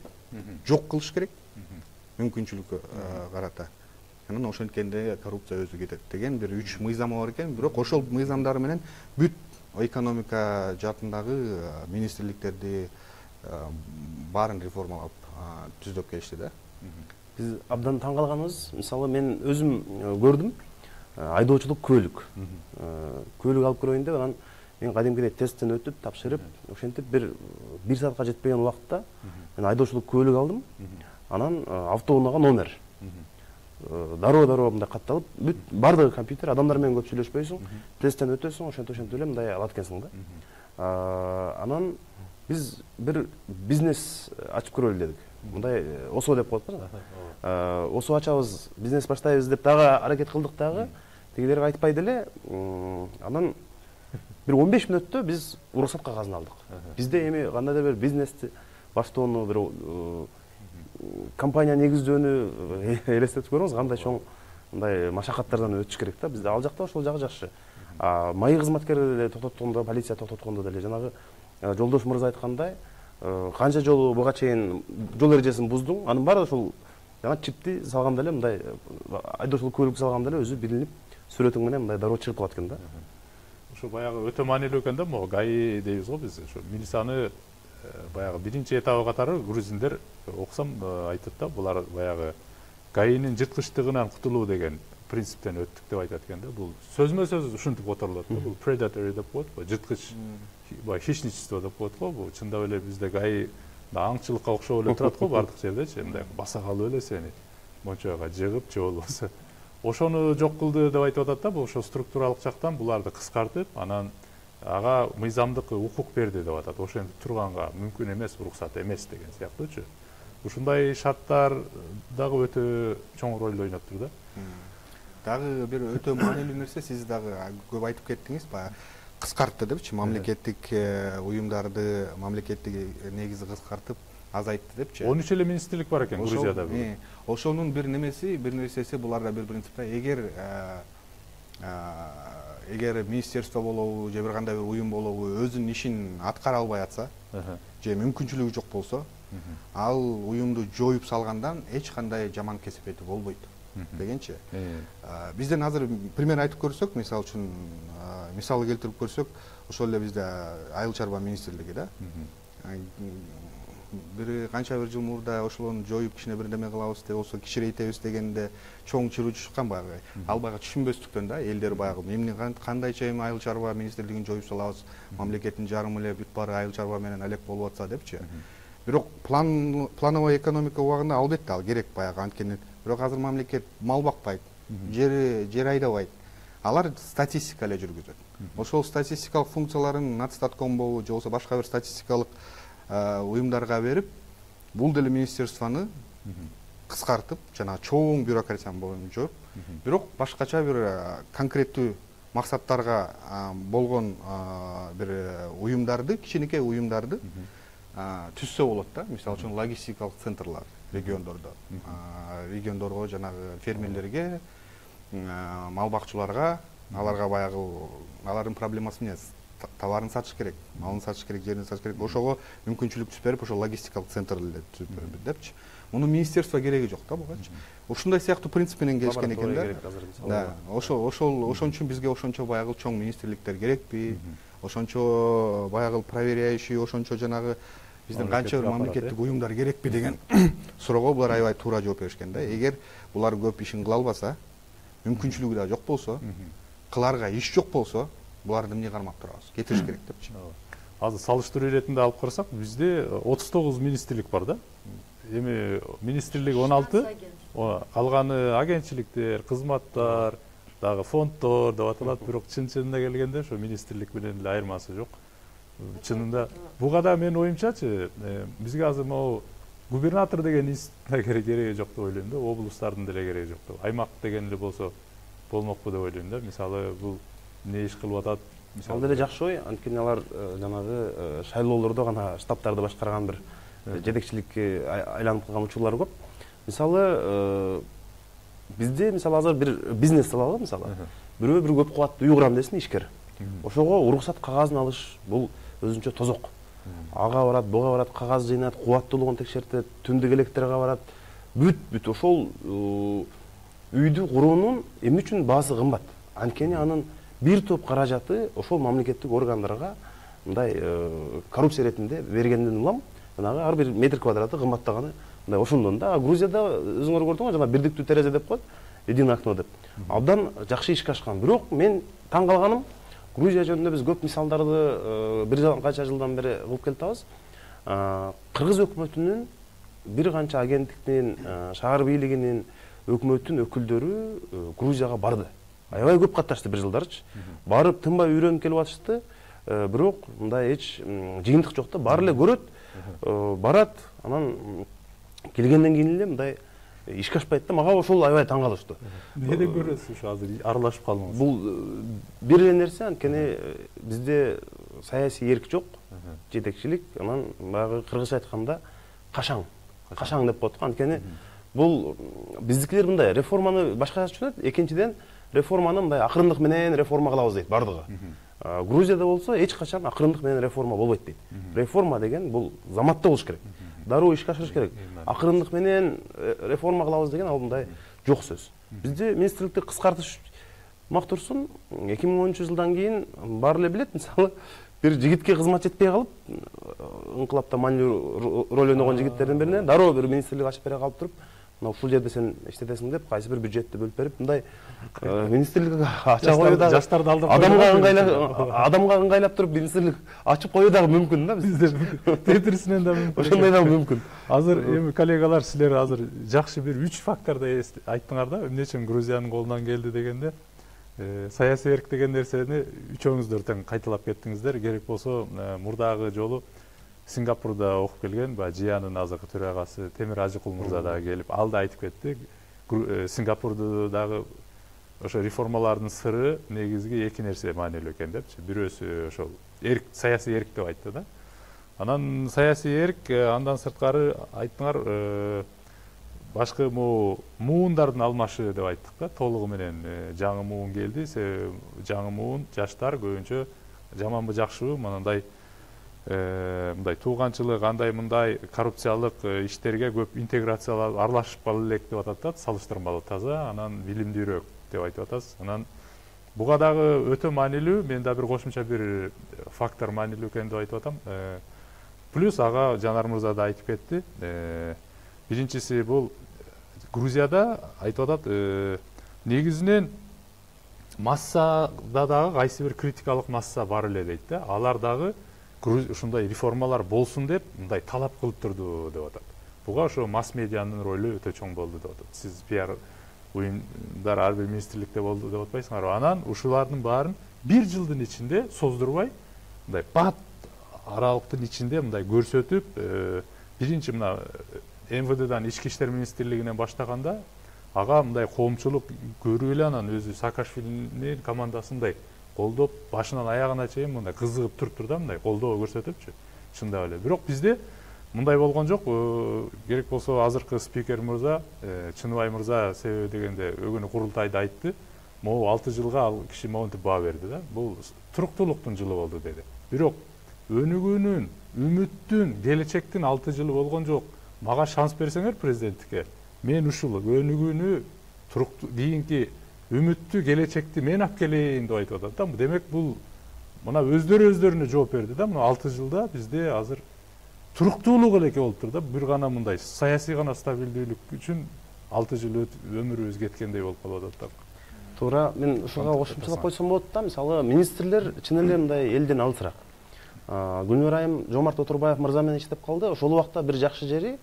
[SPEAKER 2] жок кылыш керек, мүмкүнчүлүккө карата. Анан ошенткенде коррупция өзү кетет деген бир үч мыйзамы бар экен. Бирок ошол мыйзамдар менен бүт экономика жаатындагы министрликтерди баарын реформалап түздөп келишти да.
[SPEAKER 4] Биз абдан таң калганыбыз, мисалы мен өзүм көрдүм, айдоочулук көлүк. Көлүк алып көрөйүн деп, анан мен кадимкидей тесттен өтүп, тапшырып, ошентип бир бир саатка жетпеген убакытта мен айдоочулук көлүк алдым. Анан автоунаага номер. Дароо-дароо мындай катталып, бүт бардыгы компьютер, адамдар менен көп сүйлөшпөйсүң, тесттен өтөсүң, ошентип ошентип эле мындай алат экенсиң да. Анан биз бир бизнес ачып көрөлү дедик. Мындай ОСО деп коет да. ОСО ачабыз, бизнес баштайбыз деп дагы аракет кылдык дагы. Тегилерге айтпай деле, анан бир он беш мүнөттө биз уруксат кагазын алдык. Бизде эми кандайдыр бир бизнести баштоону, бир компания негиздөөнү элестетип көрүңүз, кандай чоң мындай машакаттардан өтүш керек да. Бизде ал жакта ошол жагы жакшы. Майы кызматкерлери деле токтоткондо, полиция токтоткондо деле жанагы жолдош мырза айткандай, канча жолу буга чейин жол эрежесин буздуң, анын баары ошол жана чипти салганда эле, мындай айдоочулук көлүк салганда эле өзү билинип, сүрөтүң менен мындай дароо чыгып калат экен да.
[SPEAKER 1] Ошо баягы өтө маанилүү экен да, могу ГАИ дейбиз го биз. Ошо милицияны баягы биринчи этабы катары грузиндер окусам айтат да, булар баягы ГАИнин жырткычтыгынан кутулуу деген принциптен өттүк деп айтат экен да. Бул сөзмө сөз ушинтип которулат да. Бул predatory деп коет го, жырткыч, баягы хищничество деп коет го. Бул чындап эле бизде ГАИ аңчылыкка окшоп эле турат го бардык жердечи, мындай баса калып эле сени мончойго жыгып же болбосо ошону жок кылды деп айтып атат да. Бул ошо структуралык жактан буларды кыскартып, анан ага мыйзамдык укук берди деп атат. Ошентип турганга мүмкүн эмес, уруксат эмес деген сыяктуучу. Ушундай шарттар дагы өтө чоң роль ойноп тур да.
[SPEAKER 2] Дагы бир өтө маанилүү нерсе, сиз дагы көп айтып кеттиңиз, баягы кыскартты депчи, мамлекеттик уюмдарды, мамлекеттик негизи кыскартып азайтты депчи.
[SPEAKER 1] он үч эле министрлик бар экен Грузияда.
[SPEAKER 2] Ошонун бир немеси, бир нерсеси буларда бир принципте, эгер эгер министерство болобу же бир кандай бир уюм болобу өзүнүн ишин аткара албай атса, же мүмкүнчүлүгү жок болсо, ал уюмду жоюп салгандан эч кандай жаман кесепети болбойт дегенчи. Бизден азыр пример айтып көрсөк, мисалы үчүн мисалы келтирип көрсөк, ошол эле бизде айыл чарба министрлиги да. Бир канча бир жыл мурда ошолорду жоюп кичине бир неме кылабыз деп болсо, кичирейтебиз дегенде чоң чыруу чыккан баягы. Ал баягы түшүнбөстүктөн да, элдер баягы эмне кандайча эми айыл чарба министрлигин жоюп салабыз, мамлекеттин жарымы эле бүт баары айыл чарба менен алек болуп атса депчи. Бирок план плановый экономика убагында албетте ал керек баягы, анткени бирок азыр мамлекет мал бакпайт, жер жер айдабайт. Алар статистика эле жүргүзөт. Ошол статистикалык функцияларын Нацстатком болобу же болбосо башка бир статистикалык уюмдарга берип, бул деле министерствону кыскартып, жана чоң бюрократияны боюн жоюп, бирок башкача бир конкреттүү максаттарга болгон бир уюмдарды, кичинекей уюмдарды түзсө болот да. Мисалы үчүн логистикалык центрлар региондордо, региондорго, жанагы фермерлерге, мал бакчыларга, аларга баягы алардын проблемасы эмне? Товарын сатыш керек, малын сатыш керек, жерин сатыш керек. Ошого мүмкүнчүлүк түзүп берип, ошо логистикалык центрлерди түзүп берип депчи. Муну министерство кереги жок да бугачы. Ушундай сыяктуу принцип менен келишкен экен да. Да, ошол ошол ошон үчүн бизге ошончо баягы чоң министрликтер керекпи? Ошончо баягы проверяющий, ошончо жанагы биздин канча бир мамлекеттик уюмдар керекпи деген суроого булар аябай туура жооп беришкен да. Эгер булар көп ишин кыла албаса, мүмкүнчүлүгү да жок болсо, кыларга иш жок болсо, буларды эмне кармап турабыз? Кетириш керек депчи.
[SPEAKER 1] Азыр салыштыруу иретинде алып карасак, бизде отуз тогуз министрлик бар да. Эми министрлик он алты, калганы агентчиликтер, кызматтар, дагы фонддор деп аталат, бирок чын-чынына келгенде ошо министрлик менен эле айырмасы жок. Чынында буга да менин оюмчачы, бизге азыр могу губернатор деген институттун кереги жок деп ойлойм да, облустардын деле кереги жок деп. Аймак деген эле болсо болмокпу деп ойлойм да. Мисалы бул эмне иш кылып атат?
[SPEAKER 4] Ал деле жакшы ой, анткени алар жанагы шайлоолордо гана штабтарды башкарган бир жетекчиликке айланып калган учурлар көп. Мисалы бизде мисалы азыр бир бизнес алалы, мисалы бирөө бир көп кубаттуу үй курам десин ишкер. Ошого уруксат кагазын алыш бул өзүнчө тозок. Ага барат, буга барат, кагаз жыйнат, кубаттуулугун текшертет, түндүк электрге барат. Бүт бүт ошол үйдү куруунун эмне үчүн баасы кымбат? Анткени анын бир топ каражаты ошол мамлекеттик органдарга мындай коррупция иретинде бергенден улам, жанагы ар бир метр квадраты кымбаттаганы мындай ошондон да. Грузияда өзүңөр көрдүңөр, жана бирдиктүү терезе деп коет, единое окно деп. Абдан жакшы ишке ашкан. Бирок мен таң калганым, Грузия жөнүндө биз көп мисалдарды бир канча жылдан бери кылып келатабыз. Кыргыз өкмөтүнүн бир канча агенттиктин, шаар бийлигинин, өкмөттүн өкүлдөрү Грузияга барды. Аябай көп катташты бир жылдарчы. Барып тынбай үйрөнүп келип атышты. Бирок мындай эч жыйынтык жок да. Баары эле көрөт, барат, анан келгенден кийин эле мындай ишке ашпайт да. Мага ошол аябай таң калышты.
[SPEAKER 1] Эмнеден көрөсүз ушу азыр аралашып калдыңыз?
[SPEAKER 4] Бул бир эле нерсе, анткени бизде саясий эрк жок, жетекчилик, анан баягы кыргызча айтканда кашаң, кашаң деп коет го. Анткени бул биздикилер мындай реформаны башкача түшүнөт. Экинчиден, реформаны мындай акырындык менен реформа кылабыз дейт бардыгы. Грузияда болсо эч качан акырындык менен реформа болбойт дейт. Реформа деген бул заматта болуш керек. Дароо ишке ашырыш керек. Акырындык менен реформа кылабыз деген ал мындай жок сөз. Бизде министрликти кыскартыш Мактурсун эки миң онунчу жылдан кийин баары эле билет, мисалы бир жигитке кызмат жетпей калып, ыңкылапта маанилүү роль ойногон жигиттердин бирине дароо бир министрлик ачып бере калып туруп, мына ушул жерде сен иштетесиң деп кайсы бир бюджетти бөлүп берип, мындай министрлик ача коюу дагы
[SPEAKER 1] жаштарды алдап
[SPEAKER 4] адамга ыңгайлап адамга ыңгайлап туруп министрлик ачып коюу дагы мүмкүн да биздер.
[SPEAKER 1] Тетирисинен да мүмкүн.
[SPEAKER 4] Ошондой дагы мүмкүн.
[SPEAKER 1] Азыр эми коллегалар, силер азыр жакшы бир үч факторду айттыңар да, эмне үчүн Грузиянын колунан келди дегенде, саясий эрк деген нерсени үчөөңүздөр тең кайталап кеттиңиздер. Керек болсо мурдагы жолу Сингапурда окуп келген баягы Жиянын азыркы төрагасы Темир Ажыкул мырза дагы келип, ал да айтып кетти. Сингапурдагы ошо реформалардын сыры негизги эки нерсе маанилүү экен депчи. Бирөөсү ошол эрк, саясий эрк деп айтты да. Анан саясий эрк, андан сырткары айттыңар, башкы могу муундардын алмашы деп айттык да, толугу менен жаңы муун келди. Жаңы муун жаштар көбүнчө жаманбы жакшыбы мындай мындай тууганчылык, андай мындай коррупциялык иштерге көп интеграциялап аралашып кала элек деп атат да, салыштырмалуу таза, анан билимдүүрөөк деп айтып атасыз. Анан буга дагы өтө маанилүү, мен да бир кошумча бир фактор маанилүү экен деп айтып атам. Плюс ага Жанар мырза да айтып кетти. Биринчиси бул Грузияда айтып атат, негизинен массада дагы кайсы бир критикалык масса бар эле дейт да. Алар дагы ушундай реформалар болсун деп мындай талап кылып турду деп атат. Буга ошо масс медианын ролу өтө чоң болду деп атат. Сиз пиар уюмдар ар бир министрликте болду деп атпайсыңарбы? Анан ушулардын баарын бир жылдын ичинде создурбай, мындай бат аралыктын ичинде мындай көрсөтүп, биринчи мына эм вэ дэдан ички иштер министрлигинен баштаганда ага мындай коомчулук көрүп эле, анан өзү Саакашвилинин командасындай колдоп, башынан аягына чейин мындай кызыгып туруптур да, мындай колдоо көрсөтүпчү. Чындап эле. Бирок бизде мындай болгон жок. Керек болсо азыркы спикер мырза, Чыныбай мырза себеби дегенде өгүнү курултайда айтты. Могу алты жылга ал киши монтип баа берди да. Бул туруктуулуктун жылы болду деди. Бирок өнүгүүнүн, үмүттүн, келечектин алты жылы болгон жок. Мага шанс берсеңер президенттикке, мен ушул өнүгүүнү, туруктуу кийинки үмүттү, келечекти мен алып келейин деп айтып атат да. Демек бул мына өздөрү өздөрүнө жооп берди да. Мына алты жылда бизде азыр туруктуулук элеке болуп тур да. Бир гана мындай саясий гана стабилдүүлүк үчүн алты жыл өмүрүбүз кеткендей болуп калып атат да.
[SPEAKER 4] Туура, мен ушуга кошумчалап койсом болот да. Мисалы, министрлер чын эле мындай элден алысыраак. Гүлнөр Айым Жомарт Отурбаев мырза менен иштеп калды. Ошол убакта бир жакшы жери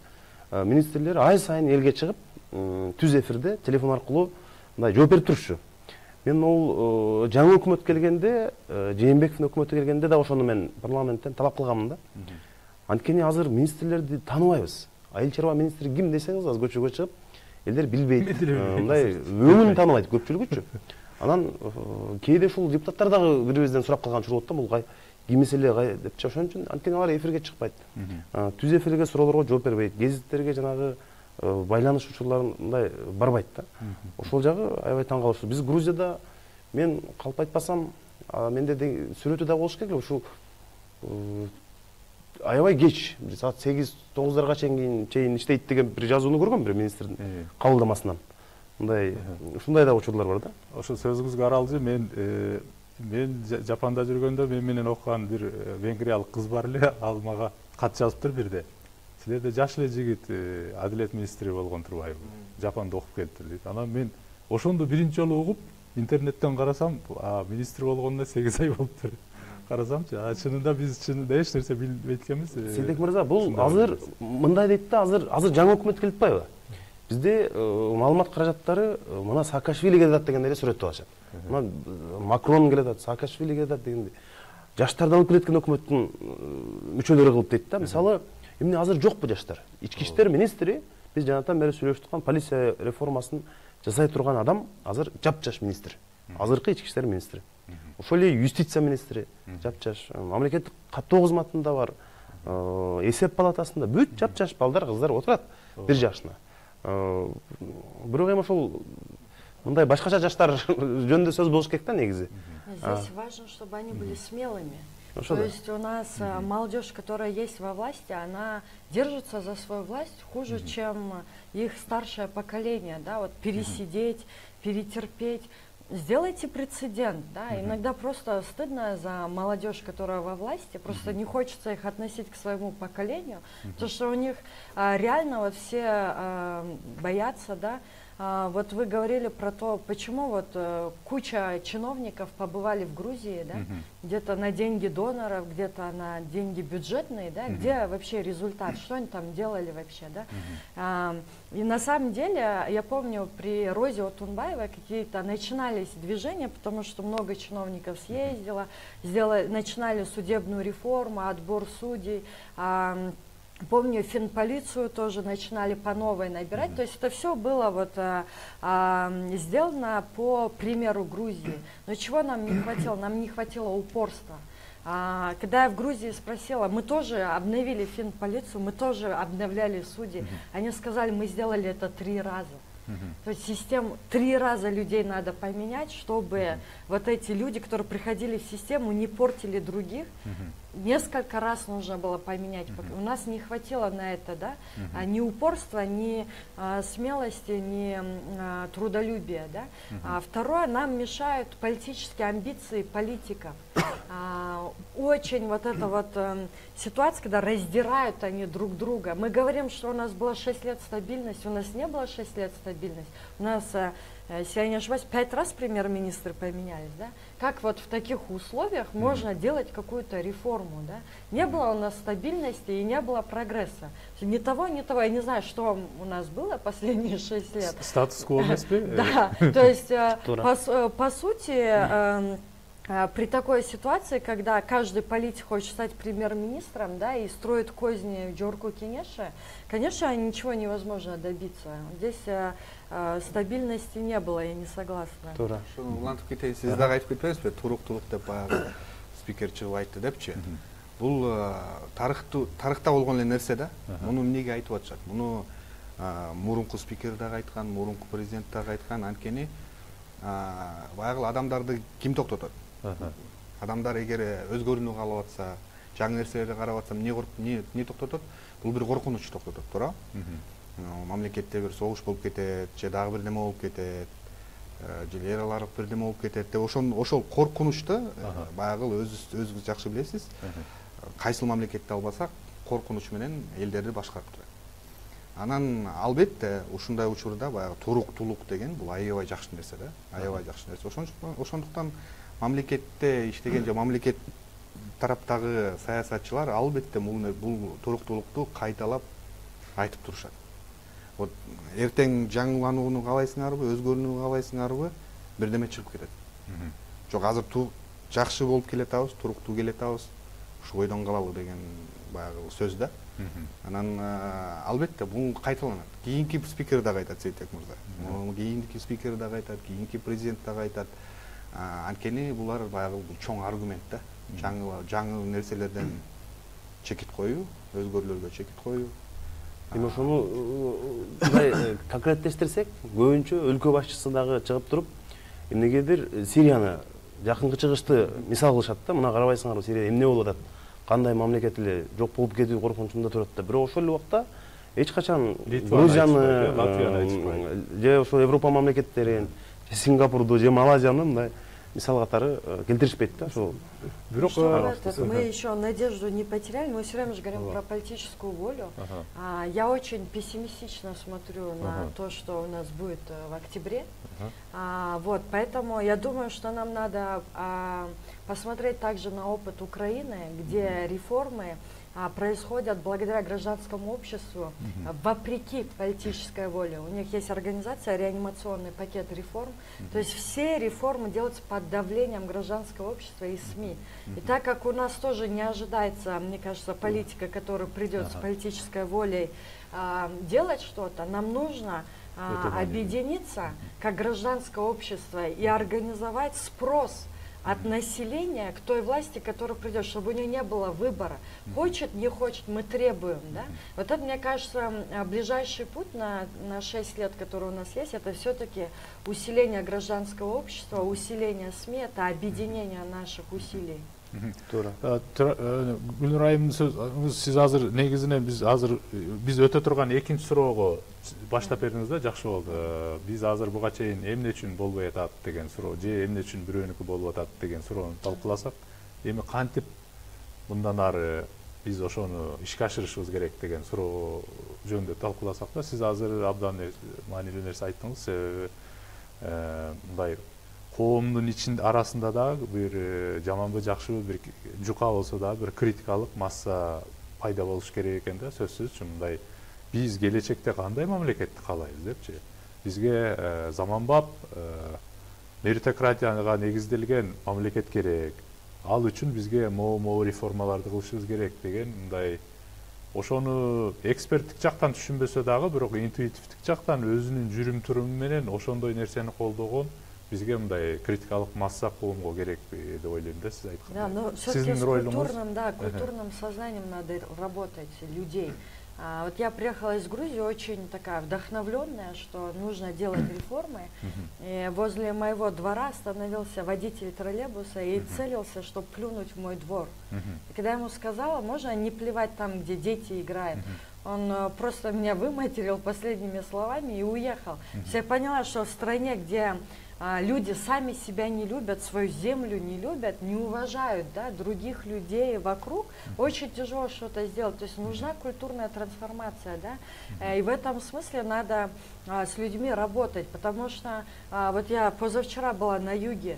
[SPEAKER 4] министрлер ай сайын элге чыгып, түз эфирде телефон аркылуу мындай жооп берип турушчу. Мен ол жаңы өкмөт келгенде, Жээнбековдун өкмөтү келгенде да ошону мен парламенттен талап кылганмын да. Анткени азыр министрлерди тааныбайбыз. Айыл чарба министри ким десеңиз, азыр көчөгө чыгып, элдер билбейт. Мындай өңүн тааныбайт көпчүлүгүчү. Анан кээде ушул депутаттар дагы бирибизден сурап калган чуру болот да, бул ким эле депчи. Ошон үчүн анткени алар эфирге чыкпайт. Түз эфирге суроолорго жооп бербейт. Гезиттерге жанагы байланыш учурларын мындай барбайт да. Ошол жагы аябай таң калыштуу. Биз Грузияда, мен калп айтпасам, менде сүрөтү да болуш керек. Ушул аябай кеч, саат сегиз тогуздарга чейин чейин иштейт деген бир жазууну көргөм бир министрдин кабылдамасынан. Мындай ушундай да учурлар бар да.
[SPEAKER 1] Ошо сөзүңүзгө аралжы, мен мен Жапанда жүргөндө мен менен окуган бир венгриялык кыз бар эле, ал мага кат жазыптыр бирде. Силерде жаш эле жигит адилет министри болгон турбайбы? Жапанда окуп келиптир дейт. Анан мен ошондо биринчи жолу угуп, интернеттен карасам, министр болгонуна сегиз ай болуптур. Карасамчы, чынында биз чынында эч нерсе билбейт экенбиз.
[SPEAKER 4] Сейдек мырза, бул азыр мындай дейт да, азыр азыр жаңы өкмөт келип атпайбы? Бизде маалымат каражаттары мына Саакашвили келет деген эле сүрөттү алышат. Мына Макрон келет, Саакашвили келет дегенде жаштарды алып келеткен өкмөттүн мүчөлөрү кылып дейт да. Мисалы, эмне азыр жокпу жаштар? Ички иштер министри, биз жанатан бери сүйлөшүп аткан полиция реформасын жасай турган адам азыр жапжаш министр. Азыркы ички иштер министри. Ошол эле юстиция министри жапжаш, мамлекеттик каттоо кызматында бар, эсеп палатасында бүт жапжаш балдар, кыздар отурат бир жашына. Бирок эми ошол мындай башкача жаштар жөнүндө сөз болуш керек да негизи.
[SPEAKER 3] Здесь важно, чтобы они были смелыми. То есть у нас молодежь, которая есть во власти, она держится за свою власть хуже, чем их старшее поколение, да, вот пересидеть, перетерпеть. сделайте прецедент, да, иногда просто стыдно за молодежь, которая во власти, просто не хочется их относить к своему поколению, потому что у них а, реально вот все а, боятся, да. А, вот вы говорили про то, почему вот а, куча чиновников побывали в Грузии, да, uh-huh. где-то на деньги доноров, где-то на деньги бюджетные, да, uh-huh. где вообще результат, что они там делали вообще, да. Uh-huh. а, и на самом деле, я помню, при Розе Отунбаевой какие-то начинались движения, потому что много чиновников съездило, сделали, начинали судебную реформу, отбор судей, а, помню, финполицию тоже начинали по новой набирать. Mm-hmm. То есть это все было вот, а, а, сделано по примеру Грузии. Но чего нам не хватило? Нам не хватило упорства. А, когда я в Грузии спросила, мы тоже обновили финполицию, мы тоже обновляли судей. Mm-hmm. Они сказали, мы сделали это три раза. Uh-huh. То есть систему три раза людей надо поменять, чтобы uh-huh. вот эти люди, которые приходили в систему, не портили других. Uh-huh. Несколько раз нужно было поменять. Uh-huh. У нас не хватило на это, да, uh-huh. ни упорства, ни а, смелости, ни а, трудолюбия, да. Uh-huh. А второе, нам мешают политические амбиции политиков. А, очень вот эта вот а, ситуация, когда раздирают они друг друга. Мы говорим, что у нас было шесть лет стабильности, у нас не было шесть лет стабильности. У нас, а, если я не ошибаюсь, пять раз премьер-министры поменялись, да? Как вот в таких условиях mm-hmm. можно делать какую-то реформу, да? Не было у нас стабильности и не было прогресса. Ни того, ни того. Я не знаю, что у нас было последние шесть лет.
[SPEAKER 1] Статус-кво,
[SPEAKER 3] да, то есть, по сути, при такой ситуации, когда каждый политик хочет стать премьер-министром, да, и строит козни Джорку Кенеше, конечно, ничего невозможно добиться. Здесь а, а, стабильности не было, я не согласна.
[SPEAKER 2] Тура. Улантып кетейин, сиз дагы айтып кетпеңизби? Туруктулук деп баягы спикер чыгып айтты депчи. Бул тарыхта болгон эле нерсе да. Муну эмнеге айтып атышат? Муну мурунку спикер дагы айткан, мурунку президент дагы айткан, анткени баягы адамдарды ким токтотот? Адамдар эгер өзгөрүүнү каалап атса, жаңы нерселерди карап атса, эмне кылып, эмне эмне токтотот? Бул бир коркунуч токтотот, туура? Мамлекетте бир согуш болуп кетет, же дагы бир неме болуп кетет, же эл аралык бир неме болуп кетет деп ошол ошол коркунучта баягы өзүңүз өзүңүз жакшы билесиз. Кайсыл мамлекетти албасак, коркунуч менен элдерди башкарып турат. Анан албетте ушундай учурда баягы туруктулук деген бул аябай жакшы нерсе да, аябай жакшы нерсе. Ошондуктан ошондуктан мамлекетте иштеген же мамлекет тараптагы саясатчылар албетте бул туруктулукту кайталап айтып турушат. Вот эртең жаңыланууну каалайсыңарбы, өзгөрүүнү каалайсыңарбы, бирдеме чыгып кетет. Жок, азыр жакшы болуп келатабыз, туруктуу келатабыз, ушу бойдон калалы деген баягы сөз да. Анан албетте бул кайталанат. Кийинки спикер дагы айтат, Сейтек мырза. Кийинки спикер дагы айтат, кийинки президент дагы айтат. Анткени булар баягы чоң аргумент да. Жаңы жаңы нерселерден чекит коюу, өзгөрүүлөргө чекит коюу.
[SPEAKER 4] Эми ошону мындай конкреттештирсек, көбүнчө өлкө башчысы дагы чыгып туруп, эмнегедир Сирияны жакынкы чыгышты мисал кылышат да. Мына карабайсыңарбы, Сирия эмне болуп атат? Кандай мамлекет эле жок болуп кетүү коркунучунда турат да. Бирок ошол эле убакта эч качан Грузияны, же ошо Европа мамлекеттерин, же Сингапурду, же Малайзияны мындай мисал катары келтиришпейт да. Ошол
[SPEAKER 3] бирок мы еще надежду не потеряли, мы все время же говорим про политическую волю. А, я очень пессимистично смотрю на то, что у нас будет в октябре. А, вот, поэтому я думаю, что нам надо а, посмотреть также на опыт Украины, где реформы а, происходят благодаря гражданскому обществу, mm-hmm. вопреки политической воле. У них есть организация, реанимационный пакет реформ. Mm-hmm. То есть все реформы делаются под давлением гражданского общества и СМИ. Mm-hmm. И так как у нас тоже не ожидается, мне кажется, политика, которая придет uh-huh. с политической волей а, делать что-то, нам нужно а, объединиться как гражданское общество и организовать спрос от населения к той власти, которая придет, чтобы у нее не было выбора. Хочет, не хочет, мы требуем. Да? Вот это, мне кажется, ближайший путь на, на шесть лет, который у нас есть, это все-таки усиление гражданского общества, усиление СМИ, это объединение наших усилий.
[SPEAKER 4] Туура.
[SPEAKER 1] Гүлнур айымдын сиз азыр негизинен биз азыр биз өтө турган экинчи суроого баштап бердиңиз да, жакшы болду. Биз азыр буга чейин эмне үчүн болбой атат деген суроо же эмне үчүн бирөөнүкү болуп атат деген суроону талкууласак, эми кантип мындан ары биз ошону ишке ашырышыбыз керек деген суроо жөнүндө талкууласак да, сиз азыр абдан маанилүү нерсе айттыңыз. Себеби мындай коомдун ичинде арасында дагы бир жаманбы жакшыбы бир жука болсо дагы бир критикалык масса пайда болуш керек экен да, сөзсүз. Мындай биз келечекте кандай мамлекетти каалайбыз депчи. Бизге заманбап меритократияга негизделген мамлекет керек. Ал үчүн бизге могу-могу реформаларды кылышыбыз керек деген мындай ошону эксперттик жактан түшүнбөсө дагы, бирок интуитивдик жактан өзүнүн жүрүм-туруму менен ошондой нерсени колдогон бизге мындай критикалык масса коомго керек деп ойлойм да, сиз айткандай.
[SPEAKER 3] Да, но все-таки с культурным, да, культурным сознанием надо работать людей. А, вот я приехала из Грузии очень такая вдохновленная, что нужно делать реформы. И возле моего двора остановился водитель троллейбуса и целился, чтобы плюнуть в мой двор. И когда я ему сказала, можно не плевать там, где дети играют, он просто меня выматерил последними словами и уехал. То есть я поняла, что в стране, где люди сами себя не любят, свою землю не любят, не уважают, да, других людей вокруг, очень тяжело что-то сделать. То есть нужна культурная трансформация, да, и в этом смысле надо а, с людьми работать, потому что а, вот я позавчера была на юге,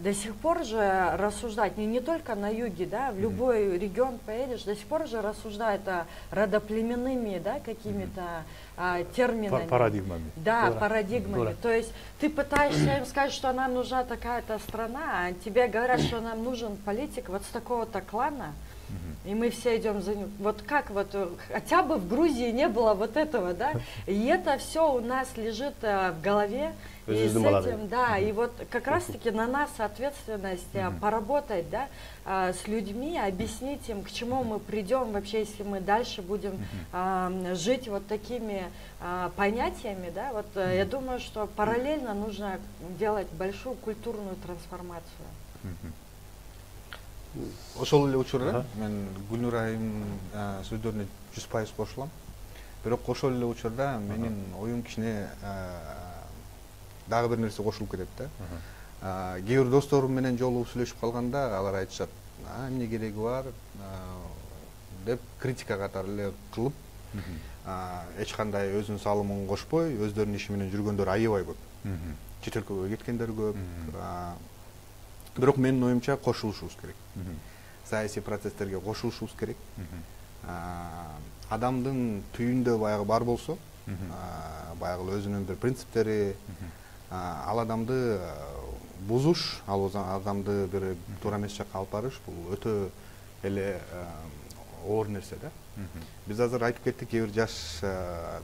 [SPEAKER 3] до сих пор же рассуждать, не, не только на юге, да, в любой регион поедешь, до сих пор же рассуждают о родоплеменными, да, какими-то а, терминами.
[SPEAKER 1] Парадигмами.
[SPEAKER 3] Да,
[SPEAKER 1] Дура.
[SPEAKER 3] парадигмами. Дура. То есть ты пытаешься им сказать, что нам нужна такая-то страна, а тебе говорят, что нам нужен политик вот с такого-то клана, и мы все идем за ним. Вот как вот, хотя бы в Грузии не было вот этого, да, и это все у нас лежит а, в голове. И с этим, да, и вот как раз-таки на нас ответственность mm-hmm. поработать, да, а, с людьми, объяснить им, к чему мы придем вообще, если мы дальше будем mm-hmm. а, жить вот такими а, понятиями, да, вот mm-hmm. я думаю, что параллельно нужно делать большую культурную трансформацию.
[SPEAKER 2] Ошол эле учурда мен Гүлнур айымдын сөздөрүнө жүз пайыз кошулам. Бирок ошол эле учурда менин оюм кичине дагы бир нерсе кошулуп кетет да. Кээ бир досторум менен жолугуп сүйлөшүп калганда алар айтышат, а эмне кереги бар деп критика катары эле кылып, эч кандай өзүнүн салымын кошпой, өздөрүнүн иши менен жүргөндөр аябай көп. Чет өлкөгө кеткендер көп. Бирок менин оюмча кошулушубуз керек. Саясий процесстерге кошулушубуз керек. Адамдын түйүндө баягы бар болсо, баягы өзүнүн бир принциптери, ал адамды бузуш, ал адамды бир туура эмес жакка алып барыш, бул өтө эле оор нерсе да. Биз азыр айтып кеттик, кээ бир жаш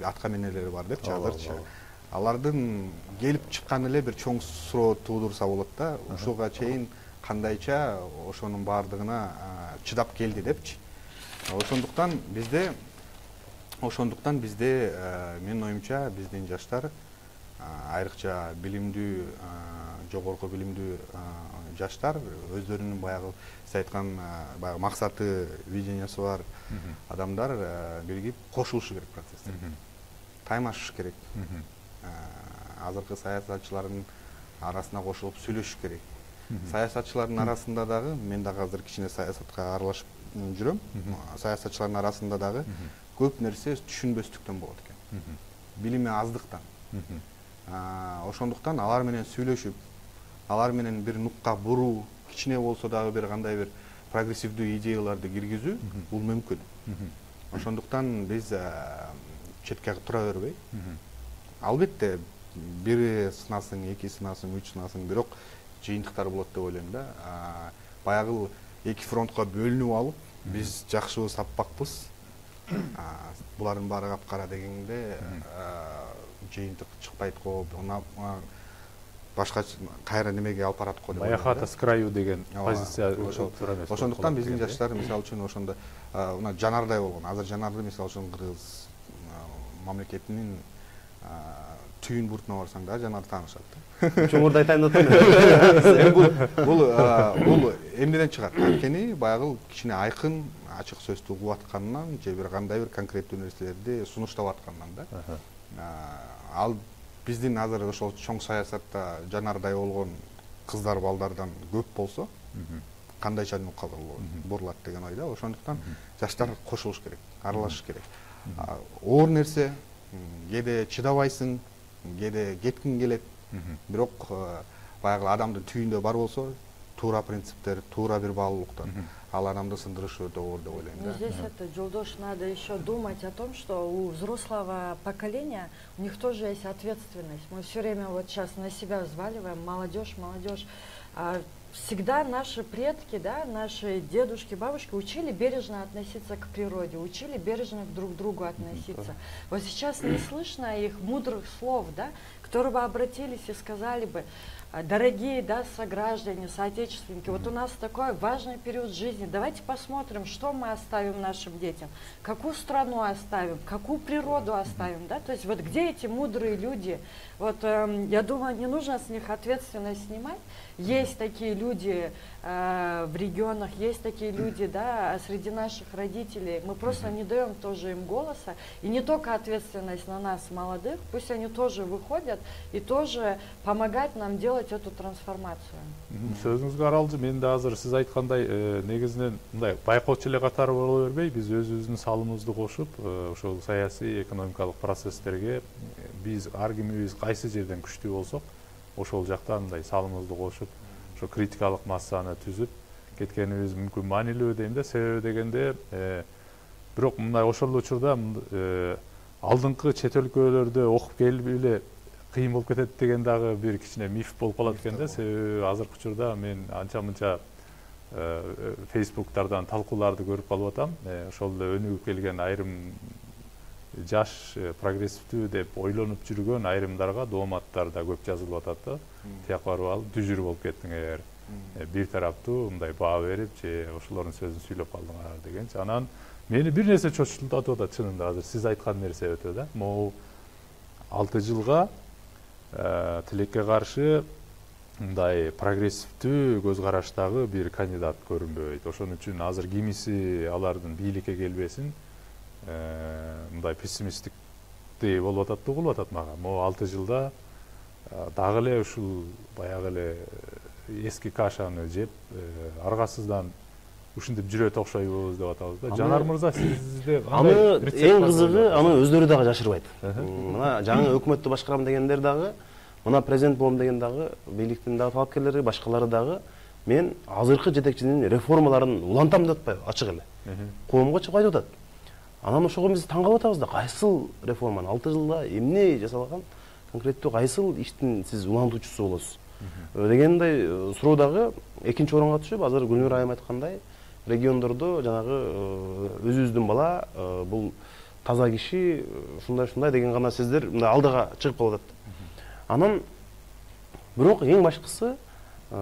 [SPEAKER 2] атка менелери бар депчи азырчы. Алардын келип чыкканы эле бир чоң суроо туудурса болот да. Ушуга чейин кандайча ошонун баардыгына чыдап келди депчи. Ошондуктан бизде ошондуктан бизде менин оюмча биздин жаштар, айрыкча билимдүү, жогорку билимдүү жаштар өздөрүнүн баягы сиз айткан баягы максаты, видениясы бар адамдар биригип кошулушу керек процесстерге. Таймашыш керек. Азыркы саясатчылардын арасына кошулуп сүйлөшүш керек. Саясатчылардын арасында дагы, мен дагы азыр кичине саясатка аралашып жүрөм. Саясатчылардын арасында дагы көп нерсе түшүнбөстүктөн болот экен. Билими аздыктан. Ошондуктан алар менен сүйлөшүп, алар менен бир нукка буруу, кичине болсо дагы бир кандай бир прогрессивдүү идеяларды киргизүү бул мүмкүн. Ошондуктан биз четке тура бербей, албетте бири сынасың, эки сынасың, үч сынасың, бирок жыйынтыктар болот деп ойлойм да. Баягы эки фронтко бөлүнүп алып, биз жакшыбыз саппакпыз, булардын баары капкара дегенде жыйынтык чыкпайт го, башка кайра немеге алып барат го деп.
[SPEAKER 1] Баяхата с краю деген позиция
[SPEAKER 2] тура эмес. Ошондуктан биздин жаштар мисалы үчүн ошондо мына жанардай болгон. Азыр жанарды мисалы үчүн Кыргыз мамлекетинин түйүн буртуна барсаң да жанар таанышат.
[SPEAKER 4] Чоңурду айтайын деп атам.
[SPEAKER 2] Бул бул бул эмнеден чыгат? Анткени баягы кичине айкын, ачык сөздү угуп атканынан же бир кандай бир конкреттүү нерселерди сунуштап атканынан да. Ал биздин азыр ошол чоң саясатта жанардай болгон кыздар балдардан көп болсо, кандайча бурулат деген ойда. Ошондуктан жаштар кошулуш керек, аралашыш керек. Оор нерсе, кээде чыдабайсың, кээде кеткиң келет. Бирок баягы адамдын түйүндө бар болсо, туура принциптер, туура бир баалуулуктар ал адамды сындырышы өтө оор деп ойлойм.
[SPEAKER 3] Но здесь это, Жолдош, надо еще думать о том, что у взрослого поколения у них тоже есть ответственность. Мы все время вот сейчас на себя взваливаем, молодежь, молодежь. А всегда наши предки, да, наши дедушки, бабушки учили бережно относиться к природе, учили бережно друг к другу относиться. Вот сейчас не слышно их мудрых слов, да, которые бы обратились и сказали бы: дорогие, да, сограждане, соотечественники, вот у нас такой важный период жизни, давайте посмотрим, что мы оставим нашим детям, какую страну оставим, какую природу оставим, да, то есть вот где эти мудрые люди, вот э, я думаю, не нужно с них ответственность снимать. Есть такие люди э, в регионах, есть такие люди, да, среди наших родителей, мы просто не даем тоже им голоса, и не только ответственность на нас, молодых, пусть они тоже выходят и тоже помогают нам делать эту трансформацию.
[SPEAKER 1] Сөзүңүзгө аралжы, мен да азыр сиз айткандай негизинен мындай байкоочу эле катары боло бербей, биз өзүбүздүн салымыбызды кошуп, ошол саясий, экономикалык процесстерге биз ар кимибиз кайсы жерден күчтүү болсок, ошол жакта мындай салымыбызды кошуп, ошо критикалык массаны түзүп кеткенибиз мүмкүн маанилүү дейм да. Себеби дегенде, бирок мындай ошол учурда алдыңкы чет өлкөлөрдө окуп келип эле кыйын болуп кетет деген дагы бир кичине миф болуп калат экен да. Себеби азыркы учурда мен анча-мынча фейсбуктардан талкууларды көрүп калып атам. Ошол эле өнүгүп келген айрым жаш прогрессивдүү деп ойлонуп жүргөн айрымдарга дооматтар да көп жазылып атат да. Тияк барып алып дүжүр болуп кеттиң эгер бир тараптуу мындай баа берип же ошолордун сөзүн сүйлөп калдыңар дегенчи. Анан мени бир нерсе чочултатып атат чынында, азыр сиз айткан нерсе өтө да. Могу алты жылга тилекке каршы мындай прогрессивдүү көз караштагы бир кандидат көрүнбөйт. Ошон үчүн азыр кимиси алардын бийликке келбесин мындай пессимисттиктей болуп атат да, угулуп атат мага. Могу алты жылда дагы эле ушул баягы эле эски кашаны жеп аргасыздан ушинтип жүрөт окшойбуз деп атабыз да. Жанар мырза, сизде
[SPEAKER 4] аны эң кызыгы аны өздөрү дагы жашырбайт. Мына жаңы өкмөттү башкарам дегендер дагы, мына президент болом деген дагы, бийликтин дагы талапкерлери, башкалары дагы мен азыркы жетекчинин реформаларын улантам деп атпайбы, ачык эле. Коомго чыгып айтып атат. Анан ошого биз таң калып атабыз да, кайсыл реформаны алты жылда эмне жасалган, конкреттүү кайсыл иштин сиз улантуучусу болосуз дегендей суроо дагы экинчи орунга түшүп, азыр Гүлнур айым айткандай, региондордо жанагы өзүбүздүн бала, бул таза киши, ушундай-ушундай деген гана сөздөр мындай алдыга чыгып калып атат. Анан бирок эң башкысы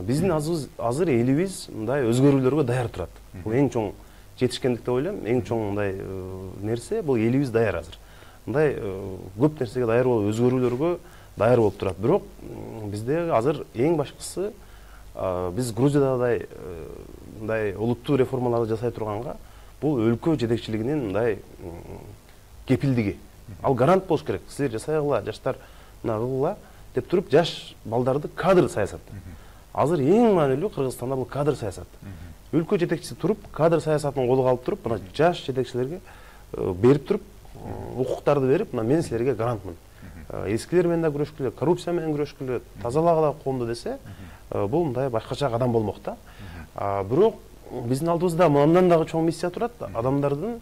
[SPEAKER 4] биздин азыр элибиз мындай өзгөрүүлөргө даяр турат. Бул эң чоң жетишкендик деп ойлойм. Эң чоң мындай нерсе бул элибиз даяр азыр. Мындай көп нерсеге даяр болуп, өзгөрүүлөргө даяр болуп турат. Бирок бизде азыр эң башкысы биз Грузиядагы мындай олуттуу реформаларды жасай турганга бул өлкө жетекчилигинин мындай кепилдиги. Ал гарант болуш керек. Силер жасайгыла, жаштар мына кылгыла деп туруп, жаш балдарды кадр саясат. Азыр эң маанилүү Кыргызстанда бул кадр саясат. Өлкө жетекчиси туруп, кадр саясатын колго алып туруп, мына жаш жетекчилерге берип туруп, укуктарды берип, мына мен силерге гарантмын. Эскилер менен да күрөшкүлө, коррупция менен күрөшкүлө, тазалагыла коомду десе, бул мындай башкача кадам болмок да. Бирок биздин алдыбызда мындан дагы чоң миссия турат. Адамдардын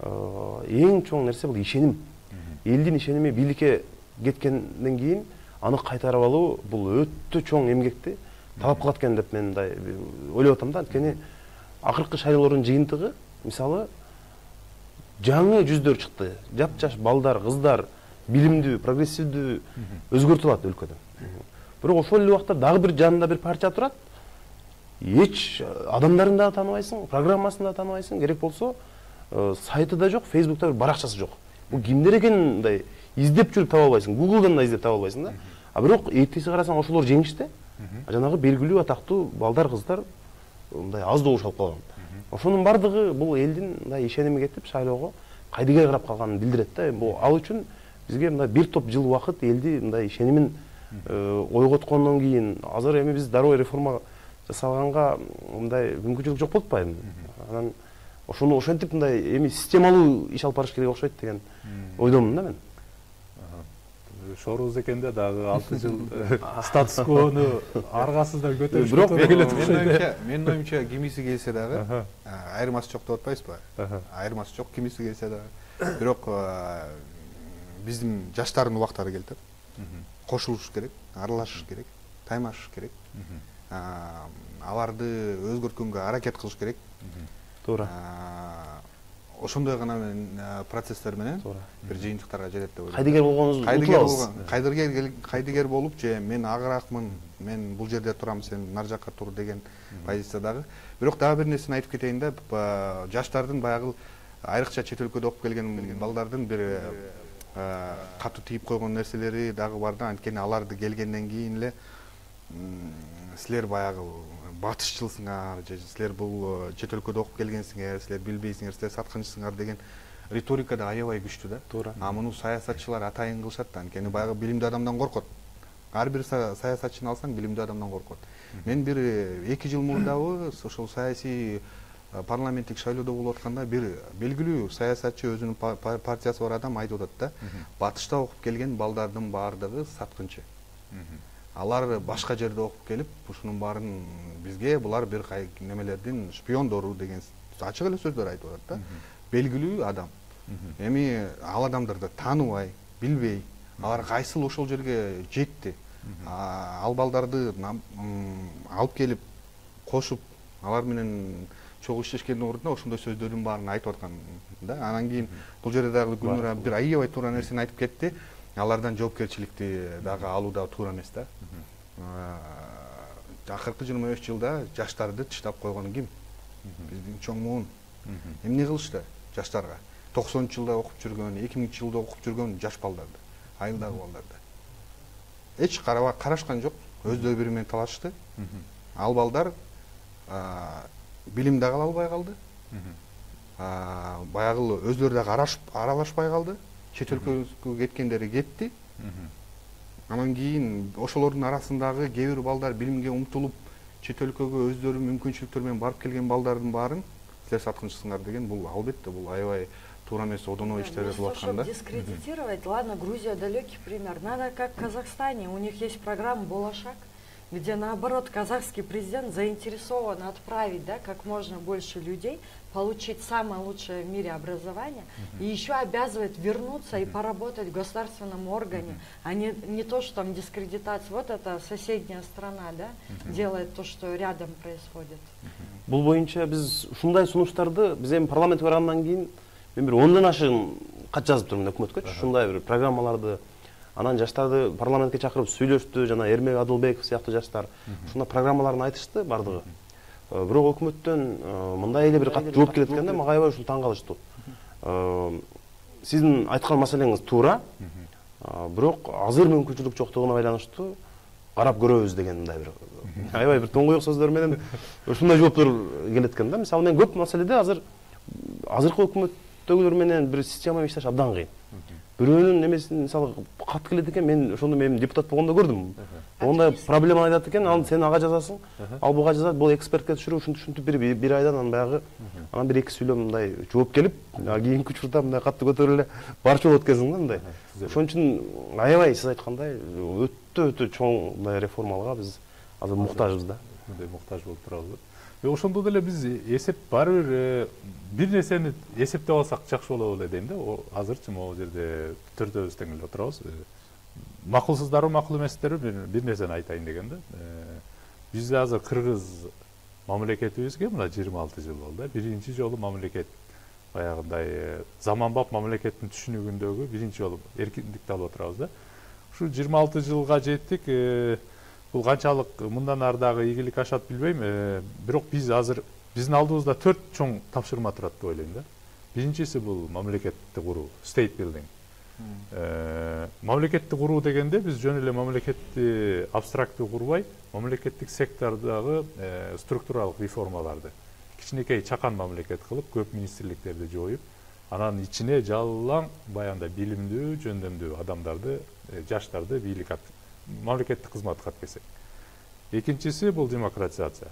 [SPEAKER 4] эң чоң нерсе бул ишеним. Элдин ишеними бийликке кеткенден кийин аны кайтарып алуу бул өтө чоң эмгекти талап кылат экен деп мен мындай ойлоп атам да. Анткени акыркы шайлоолордун жыйынтыгы, мисалы, жаңы жүздөр чыкты. Жап-жаш балдар, кыздар, билимдүү, прогрессивдүү өзгөртүп алат өлкөдө. Бирок ошол эле убакта дагы бир жанында бир партия турат. Эч адамдарын да тааныбайсың, программасын да тааныбайсың, керек болсо сайты да жок, Фейсбукта бир баракчасы жок. Бул кимдер экенин мындай издеп жүрүп таба албайсың, Google'дан да издеп таба албайсың да. А бирок эртеси карасаң ошолор жеңиште. Жанагы белгилүү атактуу балдар, кыздар мындай аз добуш алып калган. Ошонун бардыгы бул элдин мындай ишеними кетип шайлоого кайдыгер карап калганын билдирет да. Бул ал үчүн бизге мындай бир топ жыл убакыт элди мындай ишенимин ойготкондон кийин азыр эми биз дароо реформа жасалганга мындай мүмкүнчүлүк жок болуп атпайбы? Анан ошону ошентип мындай эми системалуу иш алып барыш керек окшойт деген ойдомун да мен.
[SPEAKER 1] Шорубуз экенде дагы алты жыл статус квону аргасыздан көтөрүш.
[SPEAKER 2] Бирок менин оюмча кимиси келсе дагы айырмасы жок деп атпайсызбы? Айырмасы жок кимиси келсе дагы. Бирок биздин жаштардын убактары келди. Кошулуш керек, аралашыш керек, таймашыш керек. Аларды өзгөрткөнгө аракет кылыш керек.
[SPEAKER 4] Туура.
[SPEAKER 2] Ошондой гана мен процесстер менен бир жыйынтыктарга жетет деп ойлойм.
[SPEAKER 4] Кайдыгер болгонуңузду
[SPEAKER 2] утулабыз. Кайдыгер кайдыгер болуп же мен агыраакмын, мен бул жерде турам, сен нар жакка тур деген позициядагы. Бирок дагы бир нерсени айтып кетейин да, жаштардын баягы айрыкча чет өлкөдө окуп келген балдардын бир катуу тийип койгон нерселери дагы бар да. Анткени аларды келгенден кийин эле силер баягы батышчылсыңар же силер бул чет өлкөдө окуп келгенсиңер, силер билбейсиңер, силер саткынчысыңар деген риторика да аябай күчтүү да.
[SPEAKER 4] Туура.
[SPEAKER 2] А муну саясатчылар атайын кылышат да. Анткени баягы билимдүү адамдан коркот. Ар бир саясатчыны алсаң билимдүү адамдан коркот. Мен бир эки жыл мурдабы ошол саясий парламенттик шайлоодо болуп атканда бир белгилүү саясатчы, өзүнүн партиясы бар адам айтып атат да. Батышта окуп келген балдардын баардыгы саткынчы. Алар башка жерде окуп келип, ушунун баарын бизге булар бир немелердин шпиондору деген ачык эле сөздөр айтып атат да. Белгилүү адам. Эми ал адамдарды тааныбай, билбей, алар кайсыл ошол жерге жетти. Ал балдарды алып келип, кошуп, алар менен чогуу иштешкендин ордуна ошондой сөздөрдүн баарын айтып аткан да. Анан кийин бул жерде дагы Гүлнура бир аябай туура нерсени айтып кетти. Алардан жоопкерчиликти дагы алуу да туура эмес да. Акыркы жыйырма беш жылда жаштарды тыштап койгон ким? Биздин чоң муун. Эмне кылышты жаштарга? токсонунчу жылда окуп жүргөн, эки миңинчи жылда окуп жүргөн жаш балдарды, айылдагы балдарды. Эч карабак карашкан жок, өздөрү бири менен талашты. Ал балдар билим дагы ала албай калды. Баягы өздөрү дагы аралашпай калды. Чет өлкөгө кеткендери кетти. Анан кийин ошолордун арасындагы кээ бир балдар билимге умтулуп, чет өлкөгө өздөрү мүмкүнчүлүктөр менен барып келген балдардын баарын силер саткынчысыңар деген бул албетте бул аябай туура эмес одоно иштер болуп аткан да.
[SPEAKER 3] Дискредитировать, ладно, Грузия далекий пример. Надо как в Казахстане, у них есть программа «Болашак», где наоборот казахский президент заинтересован отправить, да, как можно больше людей, получить самое лучшее в мире образование, uh-huh. и еще обязывает вернуться uh-huh. и поработать в государственном органе, uh-huh. а не, не то, что там дискредитация. Вот эта соседняя страна, да, uh-huh. делает то, что рядом происходит.
[SPEAKER 4] Бул боюнча биз ушундай сунуштарды биз эми парламент баргандан кийин мен бир ондон ашыгын кат жазып турмун өкмөткө, ушундай бир программаларды. Анан жаштарды парламентке чакырып сүйлөштү, жана Эрмек Адылбеков сыяктуу жаштар ушундай программаларын айтышты бардыгы. Бирок өкмөттөн мындай эле бир кат жооп келет экен да, мага аябай ушул таң калыштуу. Сиздин айткан маселеңиз туура, бирок азыр мүмкүнчүлүк жоктугуна байланыштуу карап көрөбүз деген мындай бир аябай бир тоңоюк сөздөр менен ушундай жооптор келет экен да. Мисалы мен көп маселеде азыр азыркы өкмөттөгүлөр менен бир система иштеш абдан кыйын. Бирөөнүн немесин мисалы кат келет экен, мен ошондо мен депутат болгондо көрдүм. Ондай проблема айтат экен, ал сен ага жазасың, ал буга жазат, бул экспертке түшүрүп, ушинтип ушинтип бир бир айдан анан баягы анан бир эки сүйлөм мындай жооп келип, кийинки учурда мындай катты көтөрүп эле барчу болот экенсиң да мындай. Ошон үчүн аябай сиз айткандай өтө өтө чоң мындай реформаларга биз азыр муктажбыз да.
[SPEAKER 1] Мындай муктаж болуп турабыз. Ошондо деле биз эсеп баары бир бир нерсени эсептеп алсак жакшы болот эле дейм да. Азырчы могу жерде төртөөбүз тең эле отурабыз. Макулсуздарбы, макул эместерби бир нерсени айтайын деген да. Бизде азыр кыргыз мамлекетибизге мына жыйырма алты жыл болду. Биринчи жолу мамлекет баягындай заманбап мамлекеттин түшүнүгүндөгү биринчи жолу эркиндикти алып отурабыз да. Ушу жыйырма алты жылга жеттик. Бул канчалык мындан ары дагы ийгилик ашат билбейм. Бирок биз азыр биздин алдыбызда төрт чоң тапшырма турат деп ойлойм да. Биринчиси бул мамлекетти куруу, state building. Мамлекетти куруу дегенде биз жөн эле мамлекетти абстрактуу курбай, мамлекеттик сектордогу структуралык реформаларды кичинекей чакан мамлекет кылып, көп министрликтерди жоюп, анан ичине жалаң баягындай билимдүү, жөндөмдүү адамдарды, жаштарды бийлик мамлекеттик кызматка алып келсек. Экинчиси бул демократизация.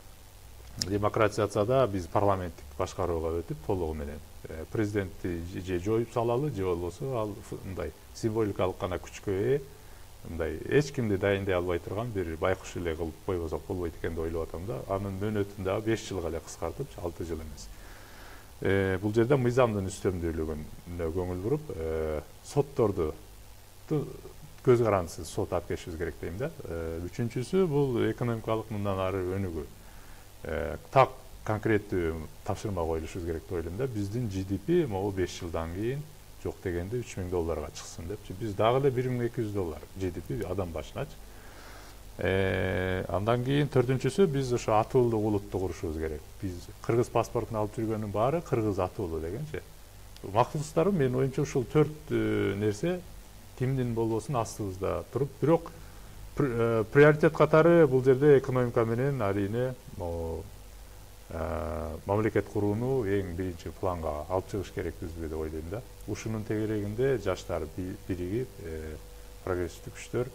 [SPEAKER 1] Демократизацияда биз парламенттик башкарууга өтүп, толугу менен президентти же жоюп салалы, же болбосо ал мындай символикалык гана күчкө ээ, мындай эч кимди дайындай албай турган бир байкуш эле кылып койбосок болбойт экен деп ойлоп атам да. Анын мөөнөтүн дагы беш жылга эле кыскартып, алты жыл эмес. Бул жерде мыйзамдын үстөмдүүлүгүнө көңүл буруп, сотторду көз карандысыз сот алып келишибиз керек дейм да. Үчүнчүсү бул экономикалык мындан ары өнүгүү. Так конкреттүү тапшырма коюлушубуз керек деп ойлойм да. Биздин G D P могу беш жылдан кийин жок дегенде үч миң долларга чыксын депчи. Биз дагы эле бир миң эки жүз доллар G D P адам башыначы. Андан кийин төртүнчүсү биз ошо атуулуу улутту курушубуз керек. Биз кыргыз паспортун алып жүргөнүн баары кыргыз атуулуу дегенчи. Максатыбыз менин оюмча ушул төрт нерсе кимдин болбосун астыбызда туруп, бирок приоритет катары бул жерде экономика менен арийне мамлекет курууну эң биринчи планга алып чыгыш керекпизби деп ойлойм да. Ушунун тегерегинде жаштар биригип, прогрессивдүү күчтөр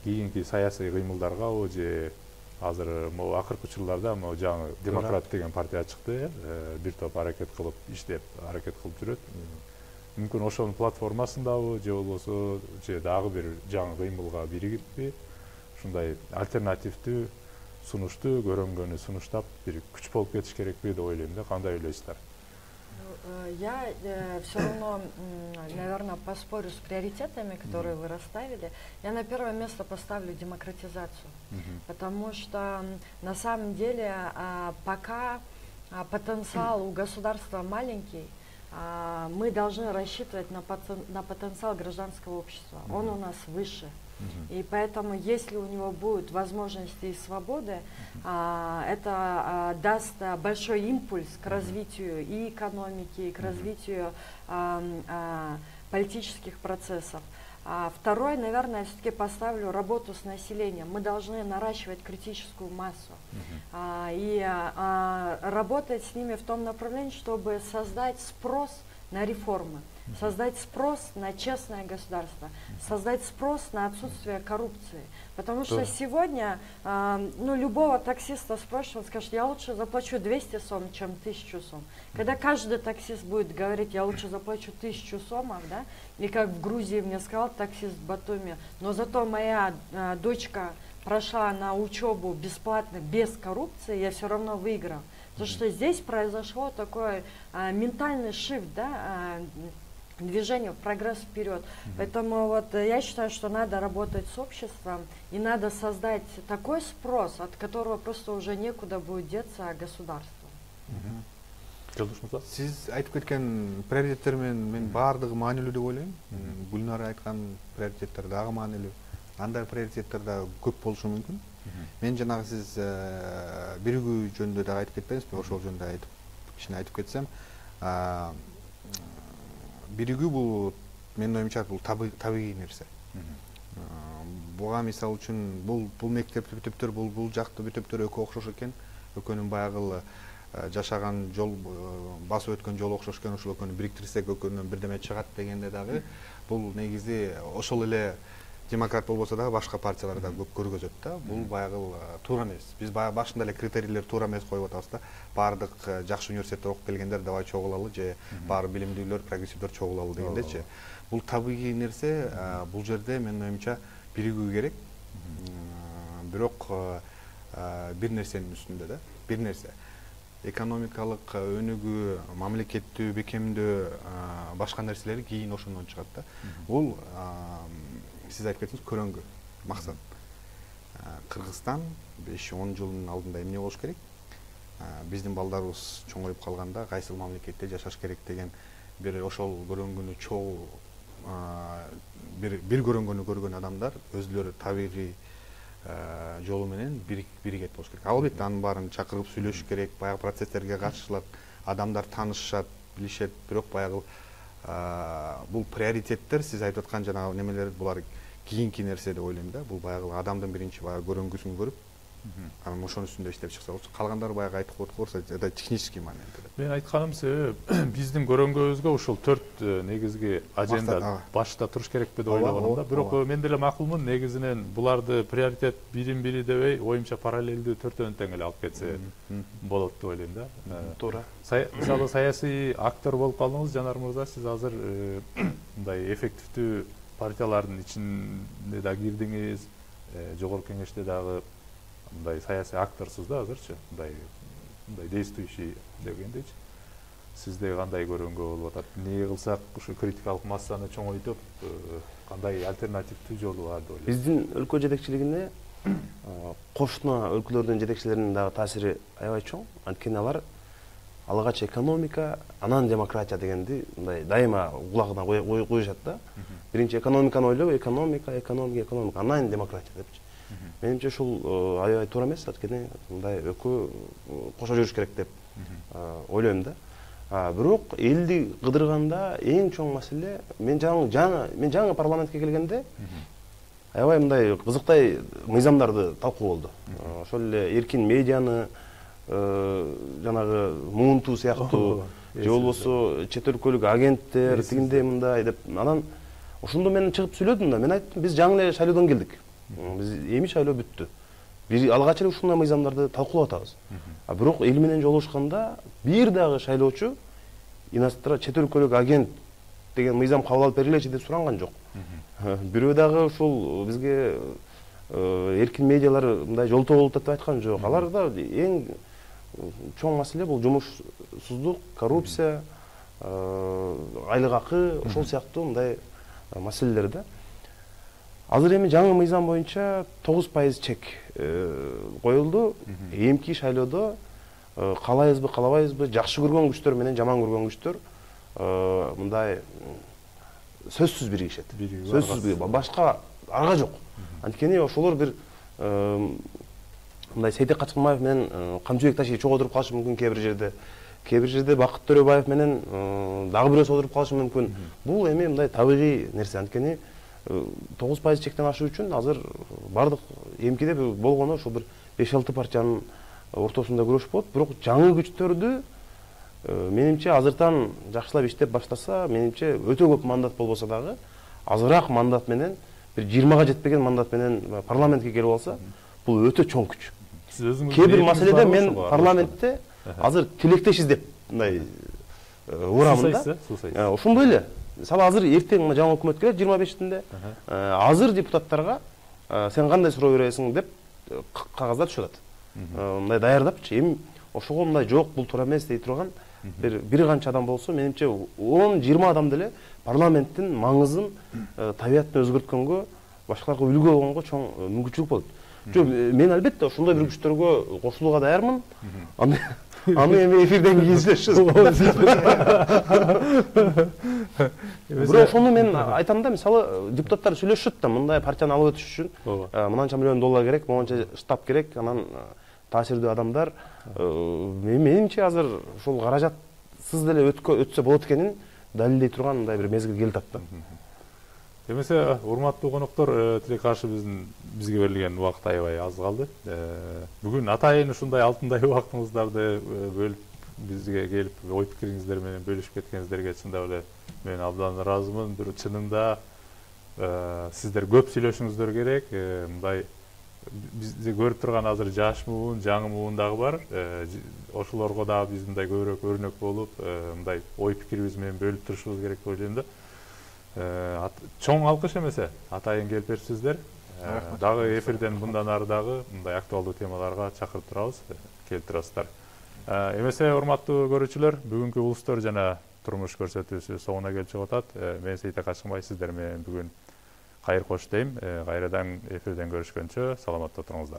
[SPEAKER 1] кийинки саясий кыймылдарга же азыр могу акыркы учурларда могу жаңы демократ деген партия чыкты, бир топ аракет кылып иштеп, аракет кылып жүрөт. Мүмкүн ошонун платформасындабы же болбосо же дагы бир жаңы кыймылга биригиппи, ушундай альтернативдүү сунушту, көрөнгөнү сунуштап бир күч болуп кетиш керекпи деп ойлойм да. Кандай ойлойсуздар?
[SPEAKER 3] Я э, все равно, наверное, поспорю с приоритетами, которые mm-hmm. вы расставили. Я на первое место поставлю демократизацию, mm-hmm. потому что на самом деле пока потенциал у государства маленький, мы должны рассчитывать на, потен, на потенциал гражданского общества. Mm-hmm. Он у нас выше. Mm-hmm. И поэтому, если у него будут возможности и свободы, mm-hmm. а, это а, даст а, большой импульс к развитию и экономики, и к mm-hmm. развитию а, а, политических процессов. А второе, наверное, я все-таки поставлю работу с населением. Мы должны наращивать критическую массу uh-huh. а, и а, работать с ними в том направлении, чтобы создать спрос на реформы, uh-huh. создать спрос на честное государство, uh-huh. создать спрос на отсутствие коррупции. Потому что uh-huh. сегодня а, ну, любого таксиста спросишь, он скажет, я лучше заплачу двести сом, чем тысячу сом. Uh-huh. Когда каждый таксист будет говорить, я лучше заплачу тысячу сомов, да, и как в Грузии мне сказал таксист в Батуми, но зато моя а, дочка прошла на учебу бесплатно, без коррупции, я все равно выиграл. Потому mm-hmm. что здесь произошло такой а, ментальный шифт, да, а, движение, прогресс вперед. Mm-hmm. Поэтому вот я считаю, что надо работать с обществом и надо создать такой спрос, от которого просто уже некуда будет деться государству.
[SPEAKER 2] Mm-hmm. Сиз айтып кеткен приоритеттер мен баардыгы маанилүү деп ойлойм. Гүлнара айткан приоритеттер дагы маанилүү. Андай приоритеттер да көп болушу мүмкүн. Мен жанагы сиз биригүү жөнүндө дагы айтып кетпеңизби? Ошол жөнүндө айтып, кичине айтып кетсем, биригүү бул менин оюмча бул табигый нерсе. Буга мисалы үчүн бул бул мектеп бүтүптөр, бул бул жактуу бүтүптөр экөө окшош экен. Экөөнүн баягы жашаган жол, басып өткөн жол окшош экен, ошол экөөнү бириктирсек экөөнүн бирдеме чыгат дегенде дагы бул негизи ошол эле демократ болбосо дагы башка партиялар да көп көргөзөт да. Бул баягы туура эмес. Биз баягы башында эле критерийлер туура эмес коюп атабыз да. Баардык жакшы университетте окуп келгендер давай чогулалы же баары билимдүүлөр, прогрессивдер чогулалы дегендечи. Бул табигый нерсе, бул жерде менин оюмча биригүү керек. Бирок бир нерсенин үстүндө да, бир нерсе. Экономикалык өнүгүү, мамлекеттүү бекемдөө, башка нерселери кийин ошондон чыгат да. Бул сиз айтып кеттиңиз, көрөнгү максат. Кыргызстан беш он жылдын алдында эмне болуш керек? Биздин балдарыбыз чоңоюп калганда кайсыл мамлекетте жашаш керек деген бир ошол көрөнгүнү чогуу бир бир көрөнгөнү көргөн адамдар өзүлөрү табигый жолу менен биригет болуш керек. Албетте анын баарын чакырып сүйлөшүш керек, баягы процесстерге катышылат, адамдар таанышышат, билишет. Бирок баягы бул приоритеттер, сиз айтып аткан жанагы немелер, булар кийинки нерсе деп ойлойм да. Бул баягы адамдын биринчи баягы көрөнгүсүн көрүп, анан ошонун үстүндө иштеп чыкса болчу. Калгандары баягы айтып койгорса, это технический момент.
[SPEAKER 1] Мен айтканым себеби биздин көрөнгүбүзгө ушул төрт негизги аженда башта туруш керекпи деп ойлогонум да. Бирок мен деле макулмун, негизинен буларды приоритет бирин бири дебей, оюмча параллелдүү төртөөнү тең эле алып кетсе болот деп ойлойм да.
[SPEAKER 4] Туура.
[SPEAKER 1] Мисалы саясий актер болуп калдыңыз, Жанар мырза, сиз азыр мындай эффективдүү партиялардын ичине да кирдиңиз, жогорку кеңеште дагы мындай саясий акторсуз да азырчы, мындай мындай действующий дегендейчи. Сизде кандай көрөнгө болуп атат? Эмне кылсак ушу критикалык массаны чоңойтуп, кандай альтернативдүү жолу бар деп ойлойсуз?
[SPEAKER 4] Биздин өлкө жетекчилигине кошуна өлкөлөрдүн жетекчилеринин дагы таасири аябай чоң. Анткени алар алгач экономика, анан демократия дегенди мындай дайыма кулагына коюшат да. Биринчи экономиканы ойлоп, экономика, экономика, экономика, анан демократия депчи. Менимче ушул аябай туура эмес, анткени мындай экөө кошо жүрүш керек деп ойлойм да. Бирок элди кыдырганда эң чоң маселе, мен жаңы мен жаңы парламентке келгенде аябай мындай кызыктай мыйзамдарды талкуу болду. Ошол эле эркин медианы, жанагы муунтуу сыяктуу, же болбосо чет өлкөлүк агенттер тигиндей мындай деп, анан ошондо мен чыгып сүйлөдүм да. Мен айттым, биз жаңы эле шайлоодон келдик. Биз эми шайлоо бүттү. Бир алгач эле ушундай мыйзамдарды талкуулап атабыз. А бирок эл менен жолугушканда бир дагы шайлоочу иностранный чет өлкөлүк агент деген мыйзам кабыл алып бергилечи деп суранган жок. Бирөө дагы ушул бизге эркин медиалар мындай жолтоо болуп атат деп айткан жок. Аларда эң чоң маселе бул жумушсуздук, коррупция, айлык акы, ошол сыяктуу мындай маселелер да. Азыр эми жаңы мыйзам боюнча тогуз пайыз чек коюлду. Эмки шайлоодо каалайбызбы, каалабайбызбы, жакшы көргөн күчтөр менен жаман көргөн күчтөр мындай сөзсүз биригишет. Сөзсүз башка арга жок. Анткени ошолор бир мындай Сейтек Качкынбаев менен Камчыбек Ташиев чогуу отуруп калышы мүмкүн кээ бир жерде. Кээ бир жерде Бакыт Төрөбаев менен дагы бирөөсү отуруп калышы мүмкүн. Бул эми мындай табигый нерсе. Анткени тогуз пайыз чектен ашуу үчүн азыр бардык эмкиде болгону ошол бир беш алты партиянын ортосунда күрөш болот. Бирок жаңы күчтөрдү менимче азыртан жакшылап иштеп баштаса, менимче өтө көп мандат болбосо дагы азыраак мандат менен, бир жыйырмага жетпеген мандат менен парламентке келип алса, бул өтө чоң күч. Кээ бир маселеде мен парламентте азыр тилектешиз деп мындай урамын да. Ошондой эле. Мисалы азыр эртең жаңы өкмөт келет жыйырма бешинде. Азыр депутаттарга сен кандай суроо бересиң деп кагаздар түшүп атат. Мындай даярдапчы. Эми ошого мындай жок, бул туура эмес дей турган бир бир канча адам болсо, менимче он жыйырма адам деле парламенттин маңызын, табиятын өзгөрткөнгө, башкаларга үлгү болгонго чоң мүмкүнчүлүк болот. Жок, мен албетте ошондой бир күчтөргө кошулууга даярмын. Аны эми эфирден кийин сүйлөшөбүз. Бирок ошону мен айтам да, мисалы депутаттар сүйлөшөт да, мындай партияны алып өтүш үчүн мынанча миллион доллар керек, монча штаб керек, анан таасирдүү адамдар. Менимче азыр ушул каражатсыз деле өтсө болот экенин далилдей турган мындай бир мезгил келип атат да.
[SPEAKER 1] Эмесе, урматтуу коноктор, тилек каршы биздин бизге берилген убакыт аябай аз калды. Бүгүн атайын ушундай алтындай убактыңыздарды бөлүп бизге келип, ой пикириңиздер менен бөлүшүп кеткениңиздерге чындап эле мен абдан ыраазымын. Бир чынында сиздер көп сүйлөшүңүздөр керек. Мындай бизди көрүп турган азыр жаш муун, жаңы муун дагы бар. Ошолорго дагы биз мындай көбүрөөк өрнөк болуп, мындай ой пикирибиз менен бөлүп турушубуз керек деп ойлойм да. Чоң алкыш эмесе, атайын келип берипсиздер. Дагы эфирден мындан ары дагы мындай актуалдуу темаларга чакырып турабыз, келип турасыздар. Эмесе, урматтуу көрүүчүлөр, бүгүнкү улустор жана турмуш көрсөтүүсү соңуна келип чыгып атат. Мен Сейтек Качкынбай сиздер менен бүгүн кайыр кош дейм. Кайрадан эфирден көрүшкөнчө саламатта туруңуздар.